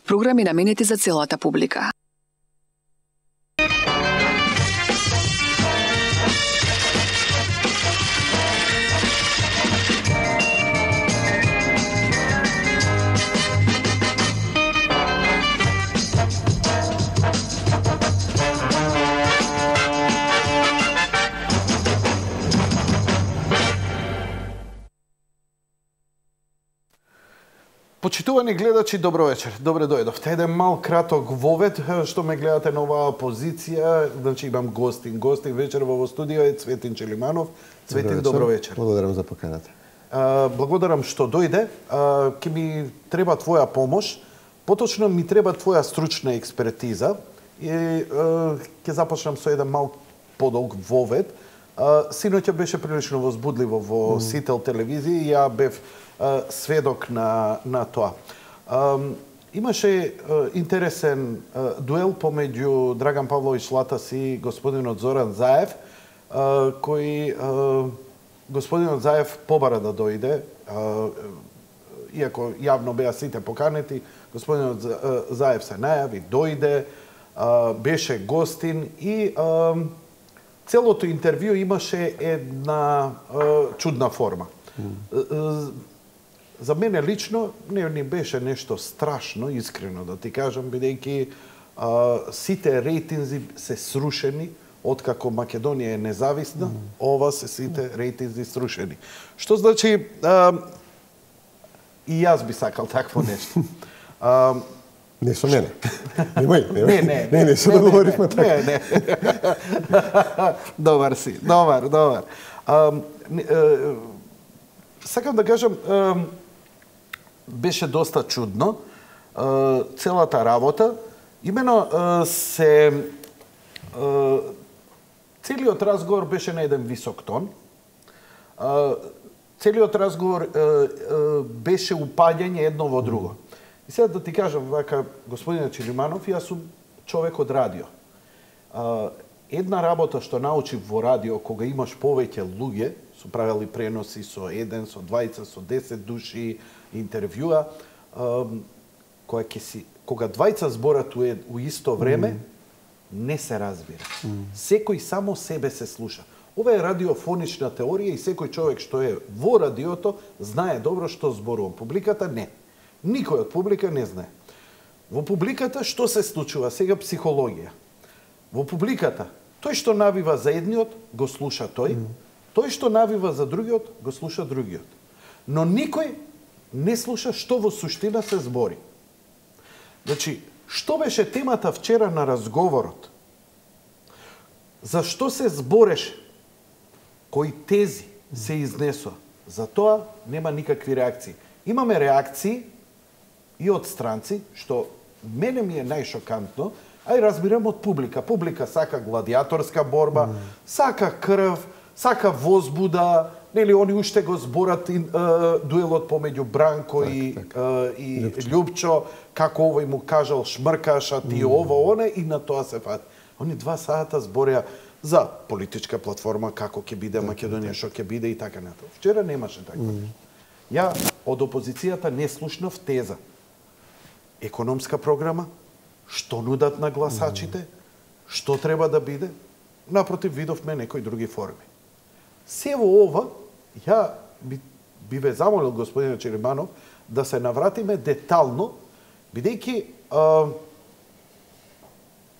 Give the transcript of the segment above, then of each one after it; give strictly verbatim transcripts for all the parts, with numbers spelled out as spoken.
Програми наменети за целата публика. Почитувани гледачи, добро вечер. Добре дојдовте. Еден мал краток вовед што ме гледате на оваа позиција. Значи имам гостин. Гостин вечер во студио е Цветин Челиманов. Цветин, добро вечер. Благодарам за поканата. А, благодарам што дојде. А, ке ми треба твоја помош. Поточно ми треба твоја стручна експертиза. И а, ке започнам со еден мал подолг вовед. А, синоќа беше прилично возбудливо во mm. Сител телевизија и ја бев сведок на, на тоа. Um, имаше uh, интересен uh, дуел помеѓу Драган Павлович Латас и господинот Зоран Заев, uh, кој uh, господинот Заев побара да дојде, uh, иако јавно беа сите поканети, господинот Заев се најави, дојде, uh, беше гостин и uh, целото интервју имаше една uh, чудна форма. Mm. Uh, За мене лично не ни беше нешто страшно, искрено да ти кажам, бидејќи сите рейтинзи се срушени откако Македонија е независна, mm. ова се сите рейтинзи срушени. Што значи а, и јас би сакал такво нешто. А, не со мене. Немој, немој. Не, не, не, не, се договоривме така. Не, не. Добар си, добар, добар. А, а, сакам да кажам, а, беше доста чудно целата работа. Имено се целиот разговор беше на еден висок тон. Целиот разговор беше упаѓање едно во друго. И сега да ти кажам, вака, господине Челиманов, јас сум човек од радио. Една работа што научив во радио, кога имаш повеќе луѓе, су правели преноси со еден, со двајца, со десет души, интервјуа, кога ќе си, кога двајца зборат у, у исто време, mm. не се разбира. Mm. Секој само себе се слуша. Ова е радиофонична теорија и секој човек што е во радиото знае добро што зборува. Публиката не. Никој од публика не знае. Во публиката што се случува? Сега психологија. Во публиката, тој што навива за едниот, го слуша тој, mm. тој што навива за другиот, го слуша другиот. Но никој не слуша што во суштина се збори. Значи, што беше темата вчера на разговорот? За што се збореше? Кои тези се изнесоа? За тоа нема никакви реакции. Имаме реакции и од странци, што мене ми е најшокантно, а и разбирам од публика. Публика сака гладиаторска борба, mm. сака крв, сака возбуда, нели они уште го зборат и, uh, дуелот помеѓу Бранко так, и, так. Uh, и Љупчо. Љупчо, како овој му кажал шмркаш, а ти mm. ово, оне, и на тоа се фат. Они два сата збореа за политичка платформа, како ќе биде так, Македонија, што ќе биде и така натаму. Вчера немаше така. Mm. Ја од опозицијата не слушнав теза. Економска програма, што нудат на гласачите, mm. што треба да биде, напротив видовме некои други форми. Се во ова, ја би, би ве замолил, господине Челиманов, да се навратиме детално, бидејќи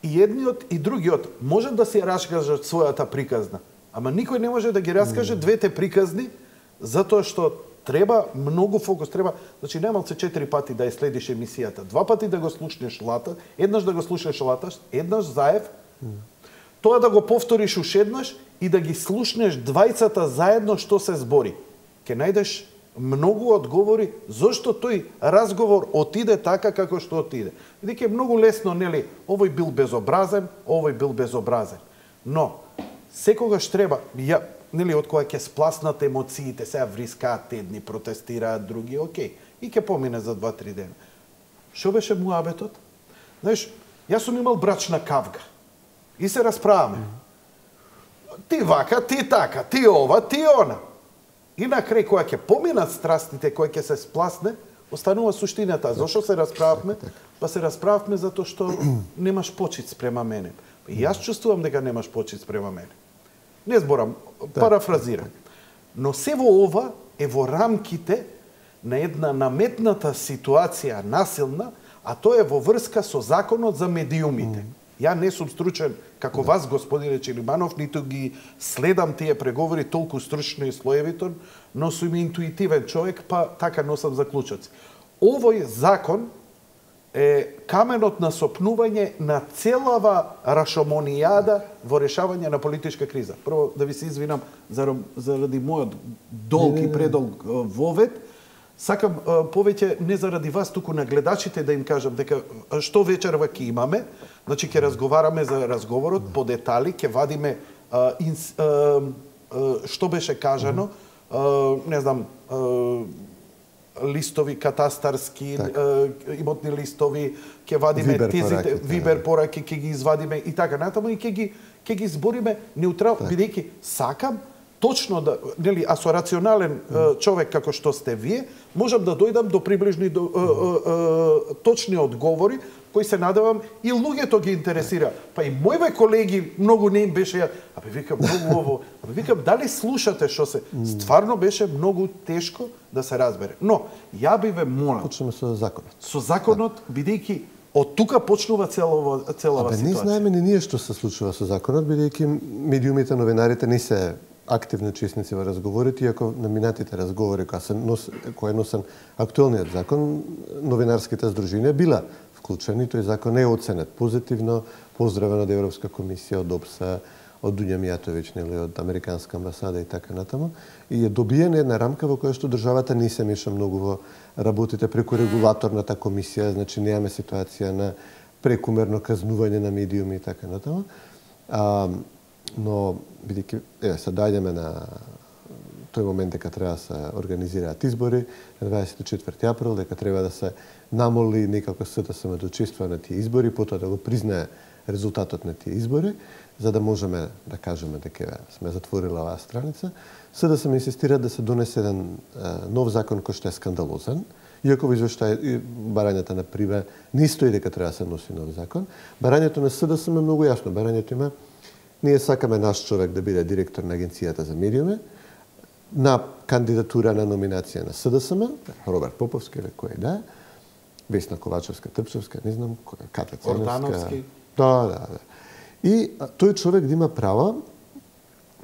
и едниот и другиот може да се раскажат својата приказна, ама никој не може да ги раскаже mm. двете приказни, затоа што треба многу фокус, треба, значи најмалце четири пати да ја следиш емисијата, два пати да го слушнеш Лата, еднаш да го слушнеш Латаш, еднаш Заев, mm. тоа да го повториш уште еднаш и да ги слушнеш двајцата заедно што се збори. Ке најдеш многу одговори зошто тој разговор отиде така како што отиде. Бидејќи е многу лесно, нели, овој бил безобразен, овој бил безобразен. Но секогаш треба, ја, нели, од кога ќе спласнат емоциите, сега врискаат едни, протестираат други, окей, и ќе помине за два-три дена. Што беше муабетот? Знаеш, јас сум имал брачна кавга и се расправаме. Ти вака, ти така, ти ова, ти она. И на крај, која ќе поминат страстите, која ќе се спласне, останува суштината. Зошто се расправавме? Па се расправавме затоа што немаш почит спрема мене. И јас чувствувам дека немаш почит спрема мене. Не зборам, парафразирам. Но се во ова е во рамките на една наметната ситуација насилна, а тоа е во врска со законот за медиумите. Mm. Ја не сум стручен како да. Вас, господине Челиманов, ниту ги следам тие преговори толку стручно и слоевито, но сум интуитивен човек, па така носам заклучоци. Овој закон е каменот на сопнување на целава рашомонијада во решавање на политичка криза. Прво да ви се извинам заради мојот долг и предолг вовед. Сакам повеќе не заради вас, туку на гледачите да им кажам дека што вечерва ќе имаме. Значи ќе разговараме за разговорот по детали, ќе вадиме а, инс, а, а, што беше кажано, а, не знам, а, листови катастарски, а, имотни листови, ќе вадиме Вибер тезите, пораки, вибер пораки, ќе ги извадиме и така натаму и ќе ги ќе ги збориме неутрално, бидејќи сакам точно да, нели, а со рационален mm. човек како што сте вие, можам да дојдам до приближни до, mm. е, е, точни одговори кои се надевам и луѓето ги интересира. Па и моите колеги многу не им беше, абе викам многу ово, абе викам дали слушате што се, стварно беше многу тешко да се разбере. Но ја би ве молам. Почнеме со законот. Со законот, бидејќи од тука почнува целова целава Абе, ситуација. не знаеме ни ние што се случува со законот, бидејќи медиумите, новинарите не се активни учесници во разговорите, иако на минатите разговори кои се нос, кој е носен актуелниот закон, новинарските здруженија била вклучени, тој закон е оценет позитивно, поздравен од Европска комисија, од ОПСА, од Дуња Мијатовиќ, нели, од Американска амбасада и така натаму, и е добиена една рамка во која што државата не се меша многу во работите преку регулаторната комисија, значи немаме ситуација на прекумерно казнување на медиуми и така натаму. А, но бидејќи еве се доаѓаме на тој момент дека треба да се организираат избори на дваесет и четврти април, дека треба да се намоли некако СДСМ да учествува на тие избори, потоа да го признае резултатот на тие избори, за да можеме да кажеме дека сме затворила оваа страница. СДСМ инсистира да се донесе еден нов закон кој што е скандалозен, иако во извештај барањата на Приве не стои дека треба да се носи нов закон. Барањето на СДСМ е многу јасно. Барањето има: ние сакаме наш човек да биде директор на Агенцијата за медиуми, на кандидатура на номинација на СДСМ, Роберт Поповски или кој да е, Весна Ковачевска-Трпчевска, не знам, Ката Ценевска. Да, да, да. И тој човек да има право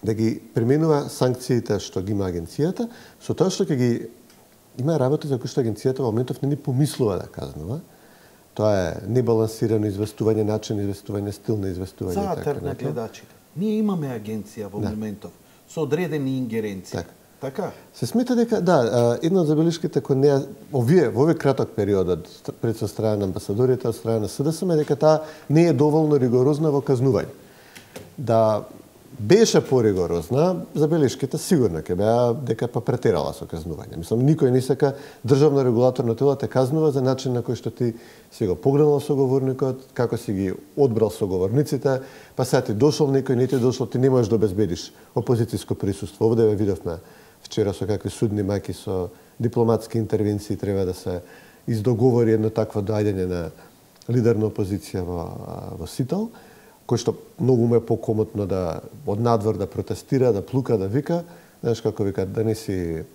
да ги применува санкциите што ги има агенцијата, со тоа што ќе ги има работа за кои што агенцијата во моментов не ни помислува да казнува. Тоа е небалансирано известување, начин известување, стил на известување. Затер на гледачите. Ние имаме агенција во да. моментов со одредени ингеренции. Так. Така? Се смета дека, да, една од забелишките кој не овие, во овој краток период од пред со страна на амбасадорите, од страна на СДСМ, дека таа не е доволно ригорозна во казнување. Да беше поригорозна, забелишките сигурно ќе беа дека па претерала со казнување. Мислам, никој не сака државно регулаторно тело те казнува за начин на кој што ти си го погледнал соговорникот, како си ги одбрал соговорниците, па сега ти дошол некој, не ти дошол, ти не можеш да обезбедиш опозицијско присуство. Овде ве видовме вчера со какви судни маки, со дипломатски интервенции треба да се издоговори едно такво доаѓање на лидер на опозиција во, во Сител, кој што многу му е покомотно да од надвор да протестира, да плука, да вика, знаеш како вика, да не си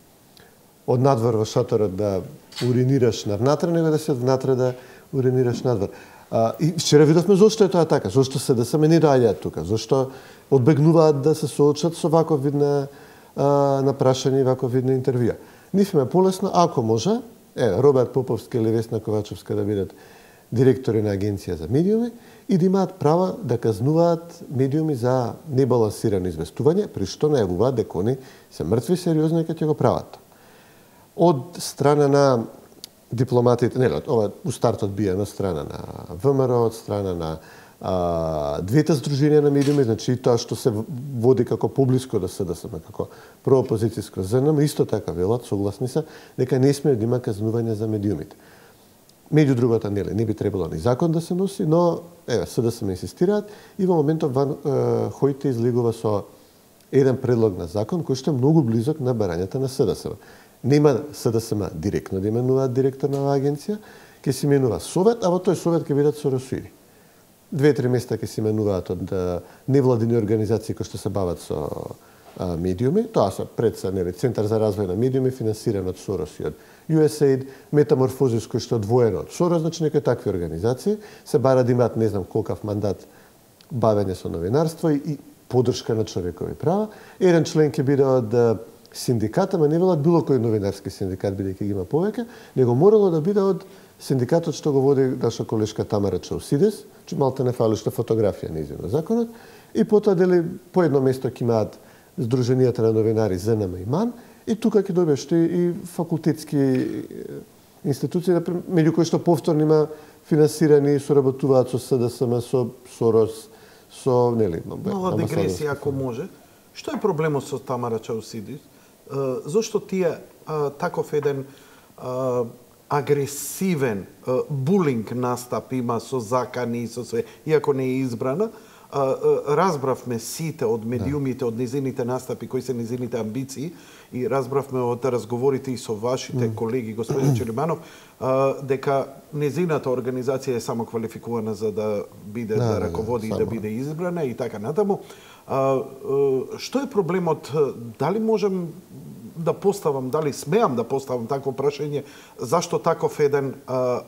од надвор во шаторот да уринираш навнатре, него да си од внатре да уринираш надвор. А, и вчера видовме зошто е тоа така, зошто се да се не доаѓаат тука, зошто одбегнуваат да се соочат со ваков вид на на прашање и ваков вид на интервјуа. Ниф ме полесно, ако може, е, Роберт Поповски или Весна Ковачевска да бидат директори на Агенција за медиуми и да имаат права да казнуваат медиуми за небалансирано известување, при што најавуваат дека они се мртви сериозно и ќе го прават. Од страна на дипломатите, не, ова у стартот бија на страна на ВМРО, од страна на а, двете здруженија на медиуми, значи и тоа што се води како поблиско да СДСМ, како проопозицијско ЗНМ, исто така велат, согласни се, дека не сме да има казнување за медиумите. Меѓу другото, нели, не би требало ни закон да се носи, но еве СДСМ инсистираат и во моментот Ван Хојте излегува со еден предлог на закон кој што е многу близок на барањата на СДСМ. нема СДСМ директно да именуваат директор на оваа агенција, ќе се именува совет, а во тој совет ќе бидат соросуиди. Две-три места ќе се именуваат од невладини организации кои што се бават со а, медиуми. Тоа се пред се, нели, Центар за развој на медиуми, финансиран од Сорос и од ю ес ей ай ди, Метаморфозис кој што одвоено од Сорос, значи некои такви организации се бара да имаат не знам колкав мандат бавење со новинарство и, и поддршка на човекови права. Еден член ќе биде од синдиката, ма не велат било кој новинарски синдикат, бидејќи ги има повеќе, него морало да биде од синдикатот што го води наша колешка Тамара Чаусидис, че малте не фали што фотографија нејзино законот, и потоа дели по едно место ќе имаат Сдруженијата на новинари ЗНМ и МАН, и тука ќе добиеш и факултетски институции, меѓу кои што повторно има финансирани и соработуваат со СДСМ, со Сорос, со, нели, мала дегресија ако може. Што е проблемот со Тамара Чаусидис? Зошто тие таков еден агресивен булинг настап има со закани и со све, иако не е избрана, разбравме сите од медиумите, од низините настапи, кои се низините амбиции, и разбравме од разговорите и со вашите колеги, господин Челиманов, дека низината организација е само квалификувана за да биде, да, да раководи да, и да биде избрана и така натаму. Што е проблемот? Дали можем да поставам, дали смеам да поставам такво прашање, зашто таков еден а,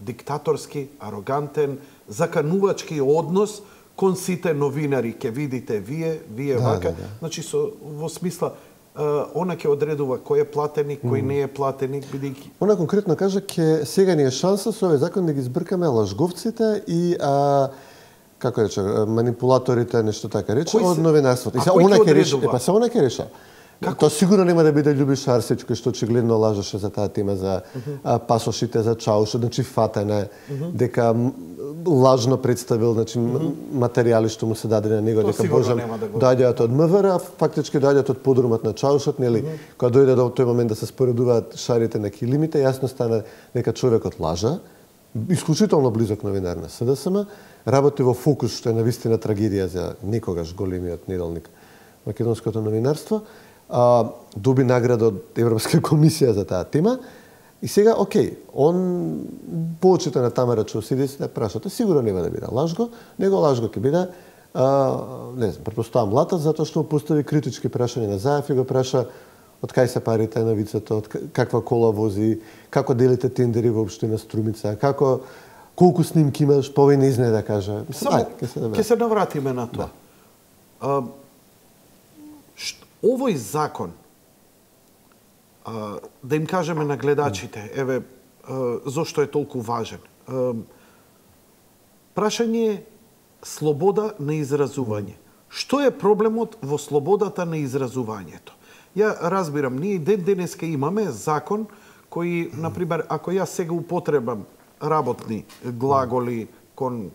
диктаторски, арогантен, заканувачки однос кон сите новинари, ке видите вие, вие да, вака, да, да. значи со во смисла а, она ќе одредува кој е платеник, кој mm. не е платеник, бидејќи она конкретно кажа ке сега ни е шанса со овој закон да ги збркаме лажговците и а, како рече, манипулаторите, нешто така рече, од новинарството. И се она ќе реша, е па се она ќе реша. Како? Тоа сигурно нема да биде Љубиша Арсич, кој што очигледно лажеше за таа тема за uh -huh. а, пасошите за Чаушот, значи фатена е, uh -huh. дека лажно представил, значи uh -huh. материјали што му се даде на него, то дека Божан да доаѓаат од МВР, а фактички доаѓаат од подрумот на Чаушот, нели, uh -huh. кога дојде до тој момент да се споредуваат шарите на килимите, јасно стана дека човекот лажа, исклучително близок новинар на СДСМ, работи во Фокус, што е навистина трагедија за никогаш големиот неделник македонското новинарство. А, доби награда од Европска комисија за таа тема. И сега, окей, он почита на Тамара Чаусидис да прашате, сигурно нема да биде лажго, него лажго ќе биде, а, не знам, претпоставам Латат, затоа што постави критички прашања на Заев и го праша од кај се парите на вицето, од каква кола вози, како делите тендери во општина Струмица, како колку снимки имаш, повеќе не знае да каже. Само ќе се, да се навратиме на тоа. Да. А, Овој закон, а, да им кажеме на гледачите, еве, а, зошто е толку важен. А, прашање е слобода на изразување. Што е проблемот во слободата на изразувањето? Ја разбирам, ние ден денеска имаме закон кој, например, ако јас сега употребам работни глаголи кон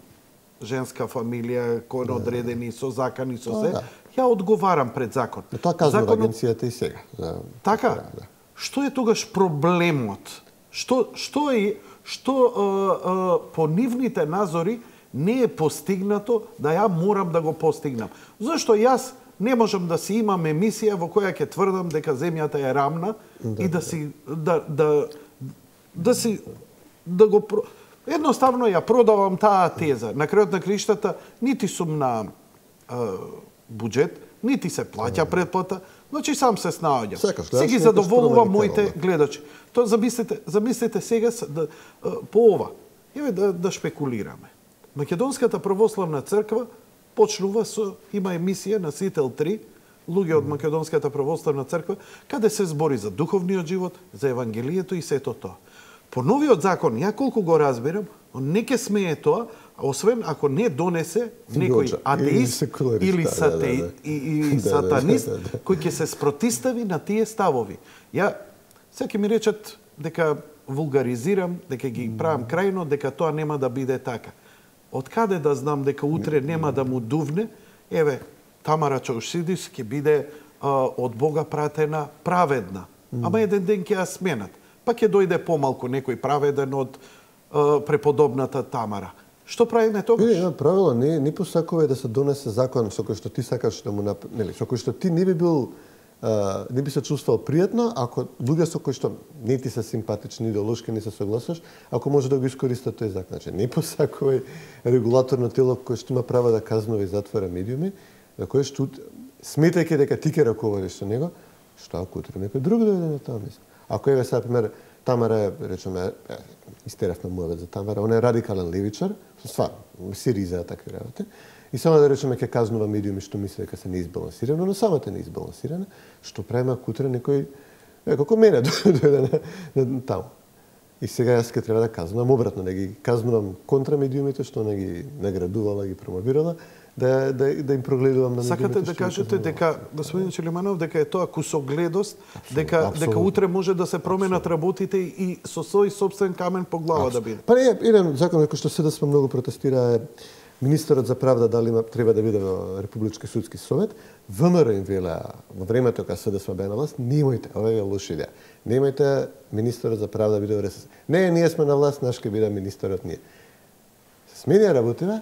женска фамилија, кон одредени со закани, со се, ја одговарам пред закон. Но тоа казва Законот... агенцијата и сега. Да, така? Да. Што е тогаш проблемот? Што, што е, што а, а, по нивните назори не е постигнато да ја морам да го постигнам? Зашто јас не можам да си имам емисија во која ќе тврдам дека земјата е рамна да, и да си да да да си да го едноставно ја продавам таа теза. На крајот на криштата нити сум на а, буџет, нити се плаќа предплата, значи сам се снаоѓам. Се ги задоволувам моите гледачи. Тоа замислете, замислете сега да, по ова. Еве да, да шпекулираме. Македонската православна црква почнува со има емисија на Сител три, луѓе од Македонската православна црква, каде се збори за духовниот живот, за евангелието и сето тоа. По новиот закон, ја колку го разбирам, не ке смее тоа, освен ако не донесе некој атеист или, сате, да, да, да. и, и сатанист кој ќе се спротистави на тие ставови. Ја секи ми речат дека вулгаризирам, дека ги правам крајно, дека тоа нема да биде така. Од каде да знам дека утре нема да му дувне? Еве, Тамара Чаусидис ќе биде а, од Бога пратена праведна. Ама еден ден ќе ја сменат. Па ќе дојде помалку некој праведен од а, преподобната Тамара. Што правиме тогаш? Не, правило, не, не посакува да се донесе закон со кој што ти сакаш да му нап... нели, со кој што ти не би бил не би се чувствувал пријатно ако луѓе со кои што не ти се симпатични, идеолошки не се согласуваш, ако може да го искористат тој закон. Значи, не посакувај регулаторно тело кој што има право да казнува и затвора медиуми, за кој што сметајќи дека ти ке раководиш со него, што ако утре некој друг дојде на тоа место. Ако еве сега пример Тамара, речеме, истеравме муавет за Тамара, он е радикален левичар, стварно, Сириза такви работи. И само да речеме ќе казнува медиуми што мисли дека се неизбалансирано, но самата неизбалансирана, што преме ако утре некој, е, како мене дојде на, на, на таму. И сега јас ке треба да казнувам обратно, да ги казнувам контра медиумите што не ги наградувала, ги промовирала, да, да, да им прогледувам на медиумите. Сакате да кажете дека, господин Челиманов, дека е тоа кусогледост, дека, дека утре може да се променат работите и со свој собствен камен по глава да биде? Па не, еден закон кој што седа сме многу протестира е Министерот за правда дали има, треба да биде во Републички судски совет. ВМРО им велеа во времето кога седа сме беа на власт, немојте, ова е лоша идеја. Немојте Министерот за правда да биде во РСС. Не, ние сме на власт, наш ке биде министерот ние. Се сменија работива.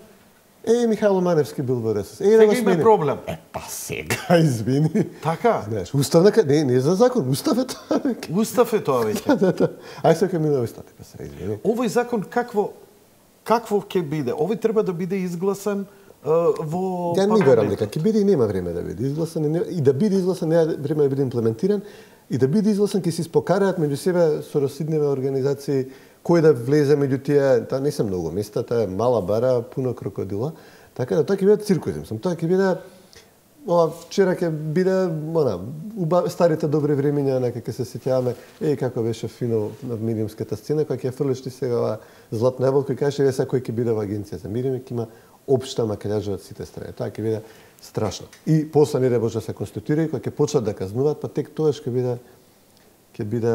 Е, Михајло Маневски бил во РСС. Е, сега има проблем. Е, па сега, извини. Така? Знаеш, уставна, не, не е за закон, устав е тоа. Устав е тоа веќе. Да, да, да. Ај сега минува устав, па се извини. Овој закон какво какво ќе биде? Овој треба да биде изгласан uh, во Ја не верам дека ќе биде и нема време да биде изгласан и, не, и да биде изгласан нема време да биде имплементиран и да биде изгласан ќе се испокараат меѓу себе со расидневе организации кој да влезе меѓу тие, таа не се многу места, таа е мала бара, пуно крокодила, така да тоа ќе биде циркузи, мислам, тоа ќе биде ова вчера ќе биде она уба, старите добри времиња, нека ќе се сеќаваме, еј како беше фино на медиумската сцена, кога ќе фрлиш ти сега ова златна еболка и кажеш еве сега кој ќе биде во агенција за медиуми, ќе има општа макељажа од сите страни. Тоа ќе биде страшно. И после не може да се конституира и кога ќе почнат да казнуваат, па тек тоа ќе биде ќе биде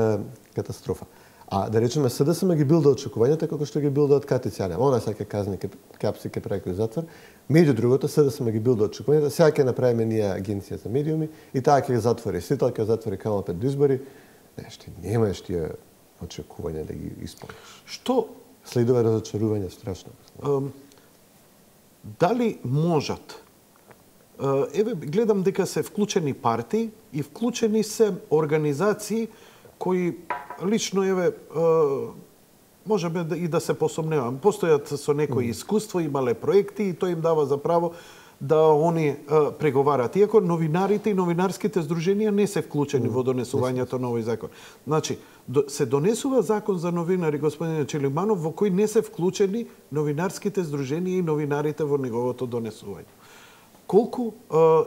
катастрофа. А да речеме СДСМ ги билда очекувањата како што ги билдаат Катицјане. Она сега ќе казни, ќе капси, ќе прави кој затвор. Меѓу другото, СДСМ ги билда очекувањата. Сега ќе направиме ние агенција за медиуми и таа ќе затвори Сител, ќе затвори Камал пред избори. Не, што немаш тие очекувања да ги исполниш. Што следува разочарување страшно. Um, дали можат? Uh, еве гледам дека се вклучени партии и вклучени се организации кои лично еве можеме и да се посомневам. Постојат со некои искуство, имале проекти и тоа им дава за право да они преговарат. Иако новинарите и новинарските здруженија не се вклучени во донесувањето на овој закон. Значи, се донесува закон за новинари, господине Челиманов, во кој не се вклучени новинарските здруженија и новинарите во неговото донесување. Колку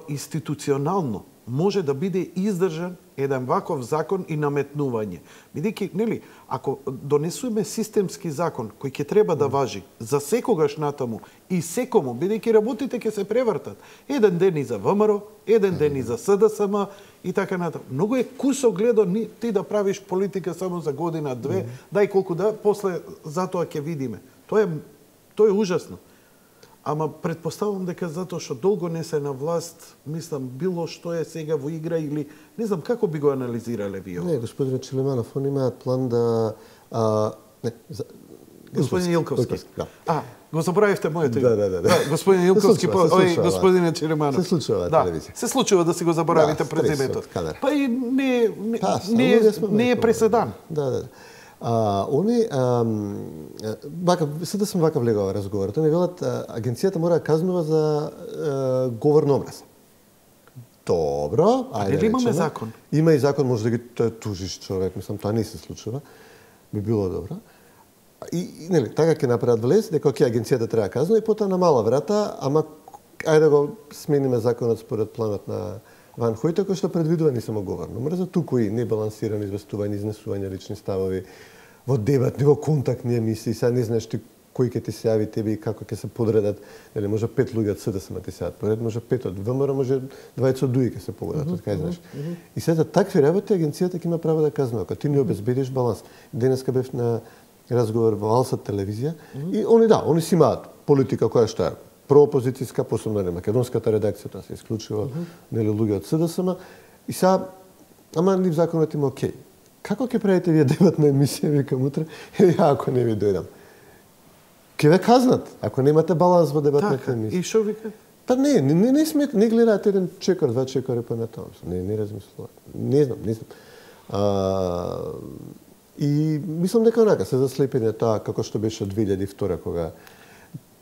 институционално може да биде издржан еден ваков закон и наметнување. Бидејќи, нели, ако донесуваме системски закон кој ќе треба да важи за секогаш натаму и секому, бидејќи работите ќе се превртат. Еден ден и за ВМРО, еден ден и за СДСМ и така натаму. Многу е кусогледо ти да правиш политика само за година, две, дај колку да, после затоа ќе видиме. Тоа е тоа е ужасно. Ама предпоставувам дека затоа што долго не се на власт, мислам, било што е сега во игра или не знам како би го анализирале вие. Не, господин Челиманов, они имаат план да а, не, за... Господин Илковски. Илковски, да. А, го забравивте моето име. Да, да, да, да. Господин Илковски, случува, па, ој, да. господине Челиманов. Се случува да, телевизија. Се случува да си го заборавите да, презимето. Па и не не, па, не, не е преседан. Да, да. А, они, а, вака, сега сме вака влегува разговорот, они велат, агенцијата мора да казнува за а, говор на омраза. Добро, ајде Дали имаме закон? Има и закон, може да ги тужиш човек, мислам, тоа не се случува. Би било добро. И, и нели, така ќе направат влез, дека ќе агенцијата треба да казнува и потоа на мала врата, ама ајде да го смениме законот според планот на Ван Хојте, кој што предвидува не само говор на омраза, туку и небалансирано известување, изнесување лични ставови, во дебатни, во контактни емисии, сега не знаеш ти кој ќе ти се јави тебе и како ќе се подредат, нели може пет луѓе од СДСМ ти се јават поред, може пет од ВМРО, може дваесет од ДУИ ќе се погодат, од кај знаеш. И сега такви работи агенцијата ќе има право да казнува, ако ти не обезбедиш баланс. Денеска бев на разговор во Алсат телевизија и они да, они си имаат политика која што е проопозицијска, посебно на македонската редакција, тоа се исклучува, нели луѓе од СДСМ и сега ама нив законот има окей. Како ќе правите вие дебатна емисија, викам утре, или ако не ви дојдам? Ке ве казнат, ако немате баланс во дебатната така, емисија. И шо вика? Па не, не, не, не смет, не гледаат еден чекор, два чекори па на тоа. Не, не размислуваат. Не знам, не знам. А, и мислам дека онака се заслепени тоа како што беше од две илјади и втора кога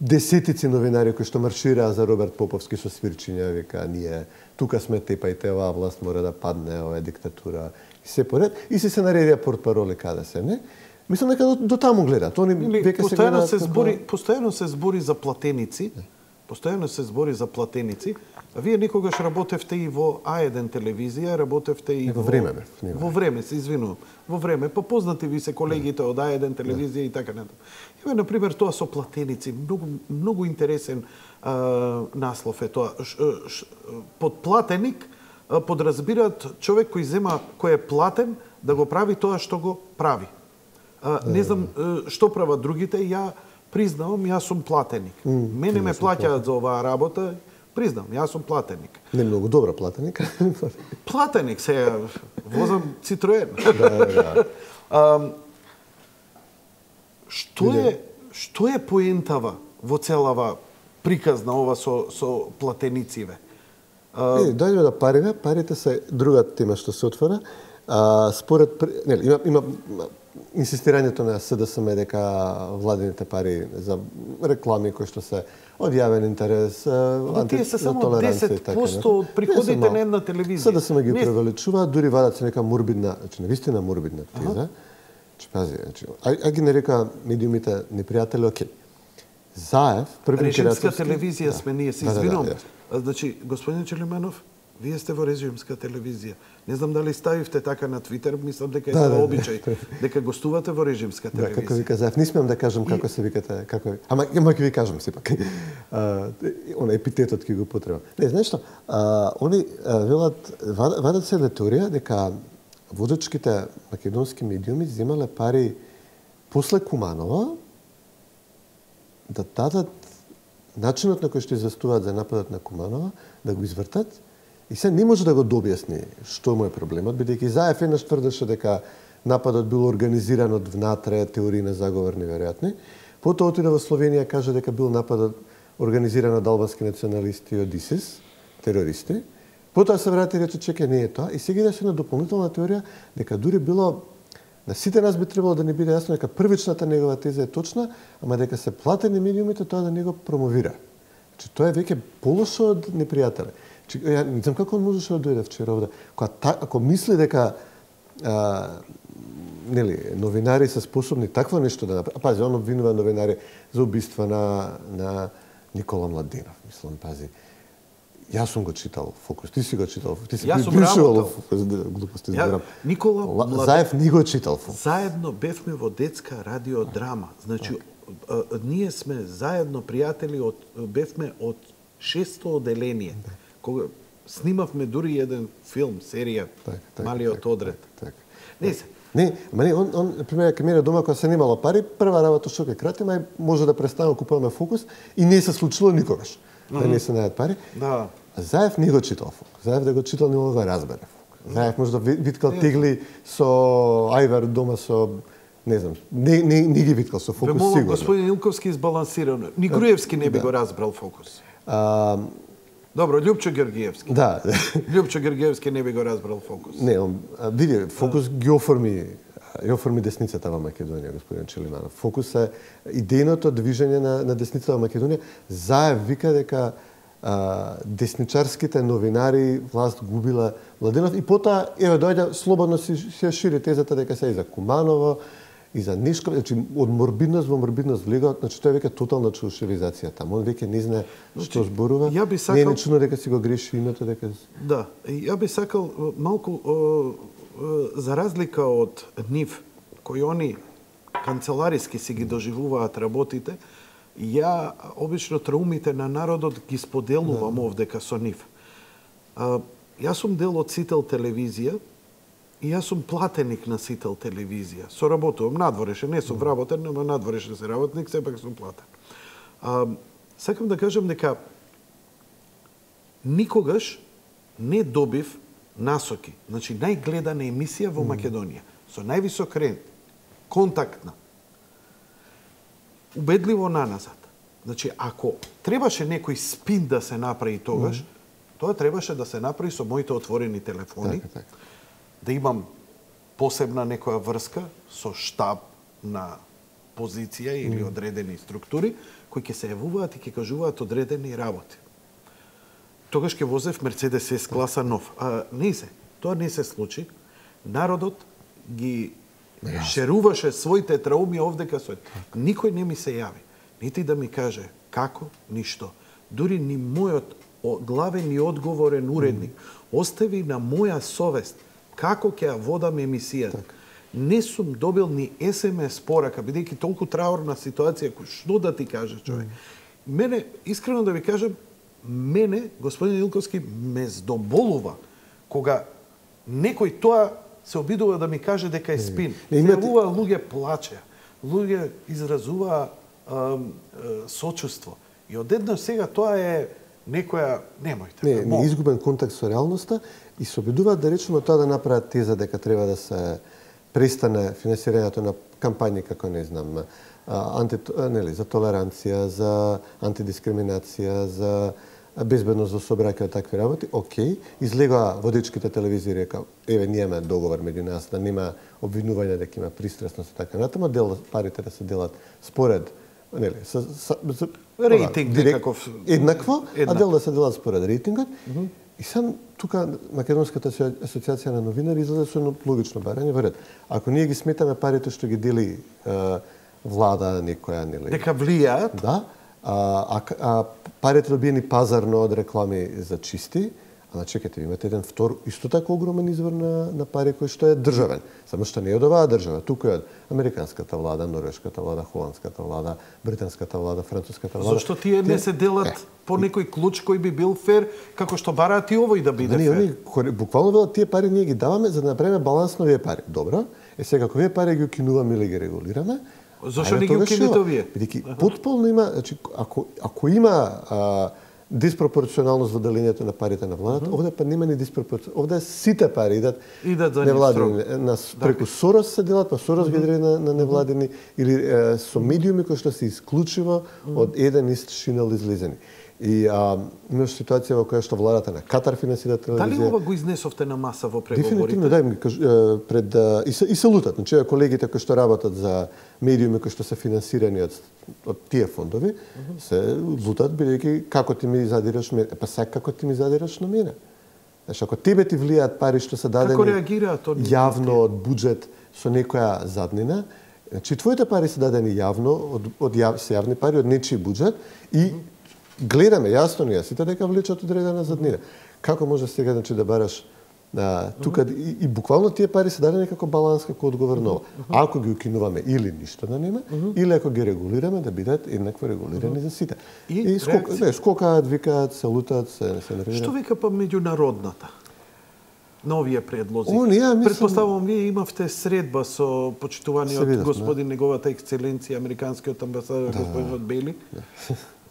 десетици новинари кои што маршираа за Роберт Поповски со свирчиња, вика, ние тука сме тепајте, оваа власт мора да падне, ова е диктатура, и се поред, и се се наредија портпароли каде се, не? Мислам дека до, до таму гледаат. Они веќе се гледаат се збори, како... постојано се збори за платеници, постојано се збори за платеници, а вие никогаш работевте и во А еден телевизија, работевте и во време, во, во време, се извинувам, во време, па познати ви се колегите од А еден телевизија и така натаму. Еве на пример тоа со платеници, многу многу интересен а, наслов е тоа. Ш, ш, под платеник а, подразбираат човек кој зема кој е платен да го прави тоа што го прави. А, не знам што прават другите, ја признавам, јас сум платеник. Mm, Мене ме плаќаат за оваа работа, признам, јас сум платеник. Не многу добра платеник. Платеник, се возам Citroen. Да, да. а, што е што е поентава во целава приказна ова со со платенициве? А... Не, дојдеме до парите, парите се друга тема што се отвора. А, според нели има има инсистирањето на СДСМ дека владините пари за реклами кои што се од јавен интерес, анти... Тие се само десет проценти од приходите на една телевизија. СДСМ ги превеличуваат, дури вадат се нека морбидна, значи навистина морбидна теза. Че пази, значи, а, а ги нарека медиумите непријатели, окей. Заев, први режимска телевизија да. Сме ние, се извинувам. Да, да, да. Значи, господин Челиманов, вие сте во режимска телевизија. Не знам дали ставивте така на Твитер, мислам дека е да, тоа да, обичај, да. Дека гостувате во режимска телевизија. Да, како ви кажав, не смеам да кажам како и... се викате, како ама ама ќе ви кажам сепак. А, она епитетот ќе го потребам. Не, знаеш што? А, они велат вадат се теорија дека водачките македонски медиуми земале пари после Куманова да дадат начинот на кој што известуваат за нападот на Куманова, да го извртат. И се не може да го дообјасни што му е проблемот, бидејќи Заев еднаш тврдеше дека нападот бил организиран од внатре, теории на заговор неверојатни. Потоа отиде во Словенија, каже дека бил нападот организиран од албански националисти и од ИСИС, терористи. Потоа се врати и рече, чекај, не е тоа. И сега идеше на дополнителна теорија дека дури било на сите нас би требало да не биде јасно дека првичната негова теза е точна, ама дека се платени медиумите тоа да не го промовира. Значи тоа е веќе полошо од непријателе. Ја не знам како он можеше да дојде вчера овде. Кога та, ако мисли дека а, нели новинари се способни такво нешто да направат. Пази, он обвинува новинари за убиства на на Никола Младенов, мислам, пази. Јас сум го читал Фокус, ти си го читал. Ти си припишувал Фокус, глупости зборам. Никола Младенов. Заев ни го читал Фокус. Заедно бевме во детска радиодрама. Значи а, а, ние сме заедно пријатели од бевме од шесто оделение. Кога снимавме дури еден филм, серија, так, так, Малиот так, одред. Так, так. Не се. Не, ама не, он, он пример, ке мене дома кога се немало пари, прва работа што ќе кратим, ај може да престанеме купуваме Фокус и не се случило никогаш. Mm -hmm. Да не се најдат пари. Да. А Заев не го читал Фокус. Заев да го читал не мога да разбере Фокус. Заев може да виткал тегли со ајвар дома со не знам, не, не, не ги виткал со Фокус сигурно. Господин Илковски избалансирано. Ни Груевски не би да. Го разбрал Фокус. А, Добро, Љупчо Георгиевски. Да. Љупчо Георгиевски не би го разбрал Фокус. Не, он види, Фокус ги оформи, ги оформи десницата во Македонија, господин Челиманов. Фокус е идејното движење на, на десницата во Македонија. Заев вика дека а, десничарските новинари власт губила Младенов и потоа еве доаѓа слободно си се шири тезата дека се и за Куманово и за Нишков, значи од морбидност во морбидност влегаат, значи тоа е веќе тотална чушевизација таму. Он веќе не знае што зборува. Ја би сакал... Не е нечуно дека си го греши името, дека... Да, ја би сакал малку о, о, за разлика од нив, кои они канцелариски си ги доживуваат работите, ја обично траумите на народот ги споделувам да. Овдека со нив. А, јас сум дел од Сител телевизија, и јас сум платеник на Сител телевизија. Соработувам надворешен, не сум вработен, но надворешен се работник, сепак сум платен. А, сакам да кажам дека никогаш не добив насоки. Значи, најгледана емисија во Македонија, со највисок рент, контактна, убедливо наназад. Значи, ако требаше некој спин да се направи тогаш, mm. тоа требаше да се направи со моите отворени телефони, така, така. да имам посебна некоја врска со штаб на позиција или mm. одредени структури, кои ќе се јавуваат и ќе кажуваат одредени работи. Тогаш ќе возев Мерцедес С класа нов. А не се, тоа не се случи. Народот ги yes. шеруваше своите трауми овдека со. Никој не ми се јави. Нити да ми каже како, ништо. Дури ни мојот главен и одговорен уредник mm. остави на моја совест како ќе ја водам емисијата. Так. Не сум добил ни ес ем ес порака, бидејќи толку траурна ситуација, кој што да ти каже човек. Mm. Мене, искрено да ви кажам, мене, господин Илковски, ме здоболува кога некој тоа се обидува да ми каже дека е спин. Се јавува луѓе плачеа, луѓе изразуваа сочувство. И одеднаш сега тоа е некоја, немојте. Не, не изгубен контакт со реалноста и се обидуваат да речеме тоа да направат теза дека треба да се престане финансирањето на кампањи како не знам, анти, нели, за толеранција, за антидискриминација, за безбедност во сообраќај, такви работи. Океј, излегоа водичките телевизии река, еве ние имаме договор меѓу нас да нема обвинување дека има пристрасност и така натаму, дел парите да се делат според нели, со, со, со рейтинг некаков еднакво, еднакво, а дел да се делат според рейтингот. Mm -hmm. И сам тука Македонската асоциација на новинари излезе со едно логично барање во ред. Ако ние ги сметаме парите што ги дели е, влада некоја, нели, дека влијаат, да, а, а, а парите добиени пазарно од реклами за чисти, ама чекайте, имате еден втор исто така огромен извор на, на пари кој што е државен. Само што не е од оваа држава, туку е од американската влада, норвешката влада, холандската влада, британската влада, француската влада. Зошто тие не се делат е. по некој клуч кој би бил фер, како што бараат и овој да биде да, фер? Не, они, буквално велат, тие пари ние ги даваме за да направиме баланс на овие пари. Добро, е сега ако овие пари ги укинуваме или ги регулираме, зошто не ги укинете овие? Бидејќи потполно има, значи ако ако има а, диспропорционалност во делењето на парите на владата, mm -hmm. овде па нема ни диспропорционалност. Овде сите пари идат невладини, на преку Сорос се делат, па Сорос mm -hmm. ги дели на, на невладини или е, со медиуми кои што се исклучиво mm -hmm. од еден ист шинел излезени. И а, имаш ситуација во која што владата на Катар финансира телевизија. Дали ова го изнесовте на маса во преговорите? Дефинитивно, да, им кажу, пред и се и се лутат, значи колегите кои што работат за медиуми кои што се финансирани од од тие фондови, mm -hmm. се лутат бидејќи како ти ми задираш мене, па сега како ти ми задираш на мене. Значи ако тебе ти влијаат пари што се дадени како реагираат од јавно од буџет со некоја заднина, значи твоите пари се дадени јавно од од јав, се јавни пари од нечи буџет и mm -hmm. гледаме јасно ние сите дека влечат одредена заднина. Како може сега значи да бараш а, тука mm -hmm. и, и буквално тие пари се дадени како баланс, како одговор на ова. Mm -hmm. Ако ги укинуваме или ништо да нема, mm -hmm. или ако ги регулираме да бидат еднакво регулирани mm -hmm. за сите. И, и скок, не, скокаат, викаат, се лутаат, се се нервираат. Што вика па меѓународната? На овие предлози. О, не, мислам... Предпоставувам, вие имавте средба со почитуваниот господин да. Неговата ексцеленција, американскиот амбасадор, да. господинот Бели. Да.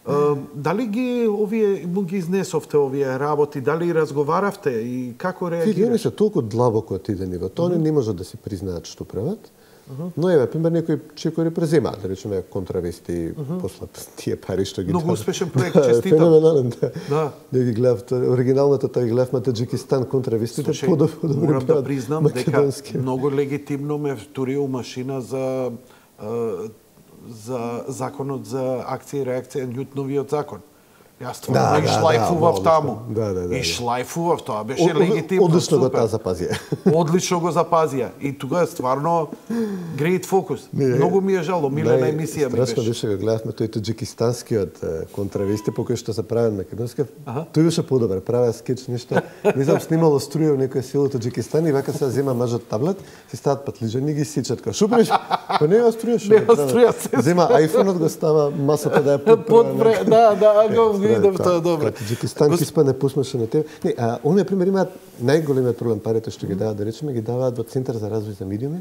Uh, дали ги овие му ги изнесовте овие работи, дали разговаравте и како реагирате? Види, они се толку длабоко отидени во тоа, mm -hmm. не можат да си признаат што прават. Mm -hmm. Но еве, пример, некои чекори преземаат, да речеме контравести, mm -hmm. после тие пари што ги Многу успешен проект, честитам. Феноменален, да. Да. Да ги гледав, оригиналната тој гледав на Таџикистан контравестите, подобро морам да признам дека многу легитимно ме втурил машина за за законот за акција и реакција, Њутновиот закон. Јас стварно да, ги шлајфував да, таму. Да, да, да. И шлајфував, тоа беше о, легитимно. Одлично го таа запазија. Одлично го запазија. И тука стварно great focus. Многу ми е жало, милена емисија ми беше. Страшно беше го гледавме тој таџикистанскиот контравести по кој што се правен македонски. Тој беше подобар, правеа скеч нешто. Не знам, снимало струја во некој село Таџикистан и вака се зема мажот таблет, си стават патлижани и ги сичат. Ка шупреш, па не ја струја што. Не ја струја. Зема ајфонот го става масата да ја подпре. Да, да, го видам тоа добро. Таџикистан киспа не пусмаше на тебе. Не, а оние пример имаат најголемиот проблем, парите што ги даваат, да речеме, ги даваат во Центар за развој за медиуми,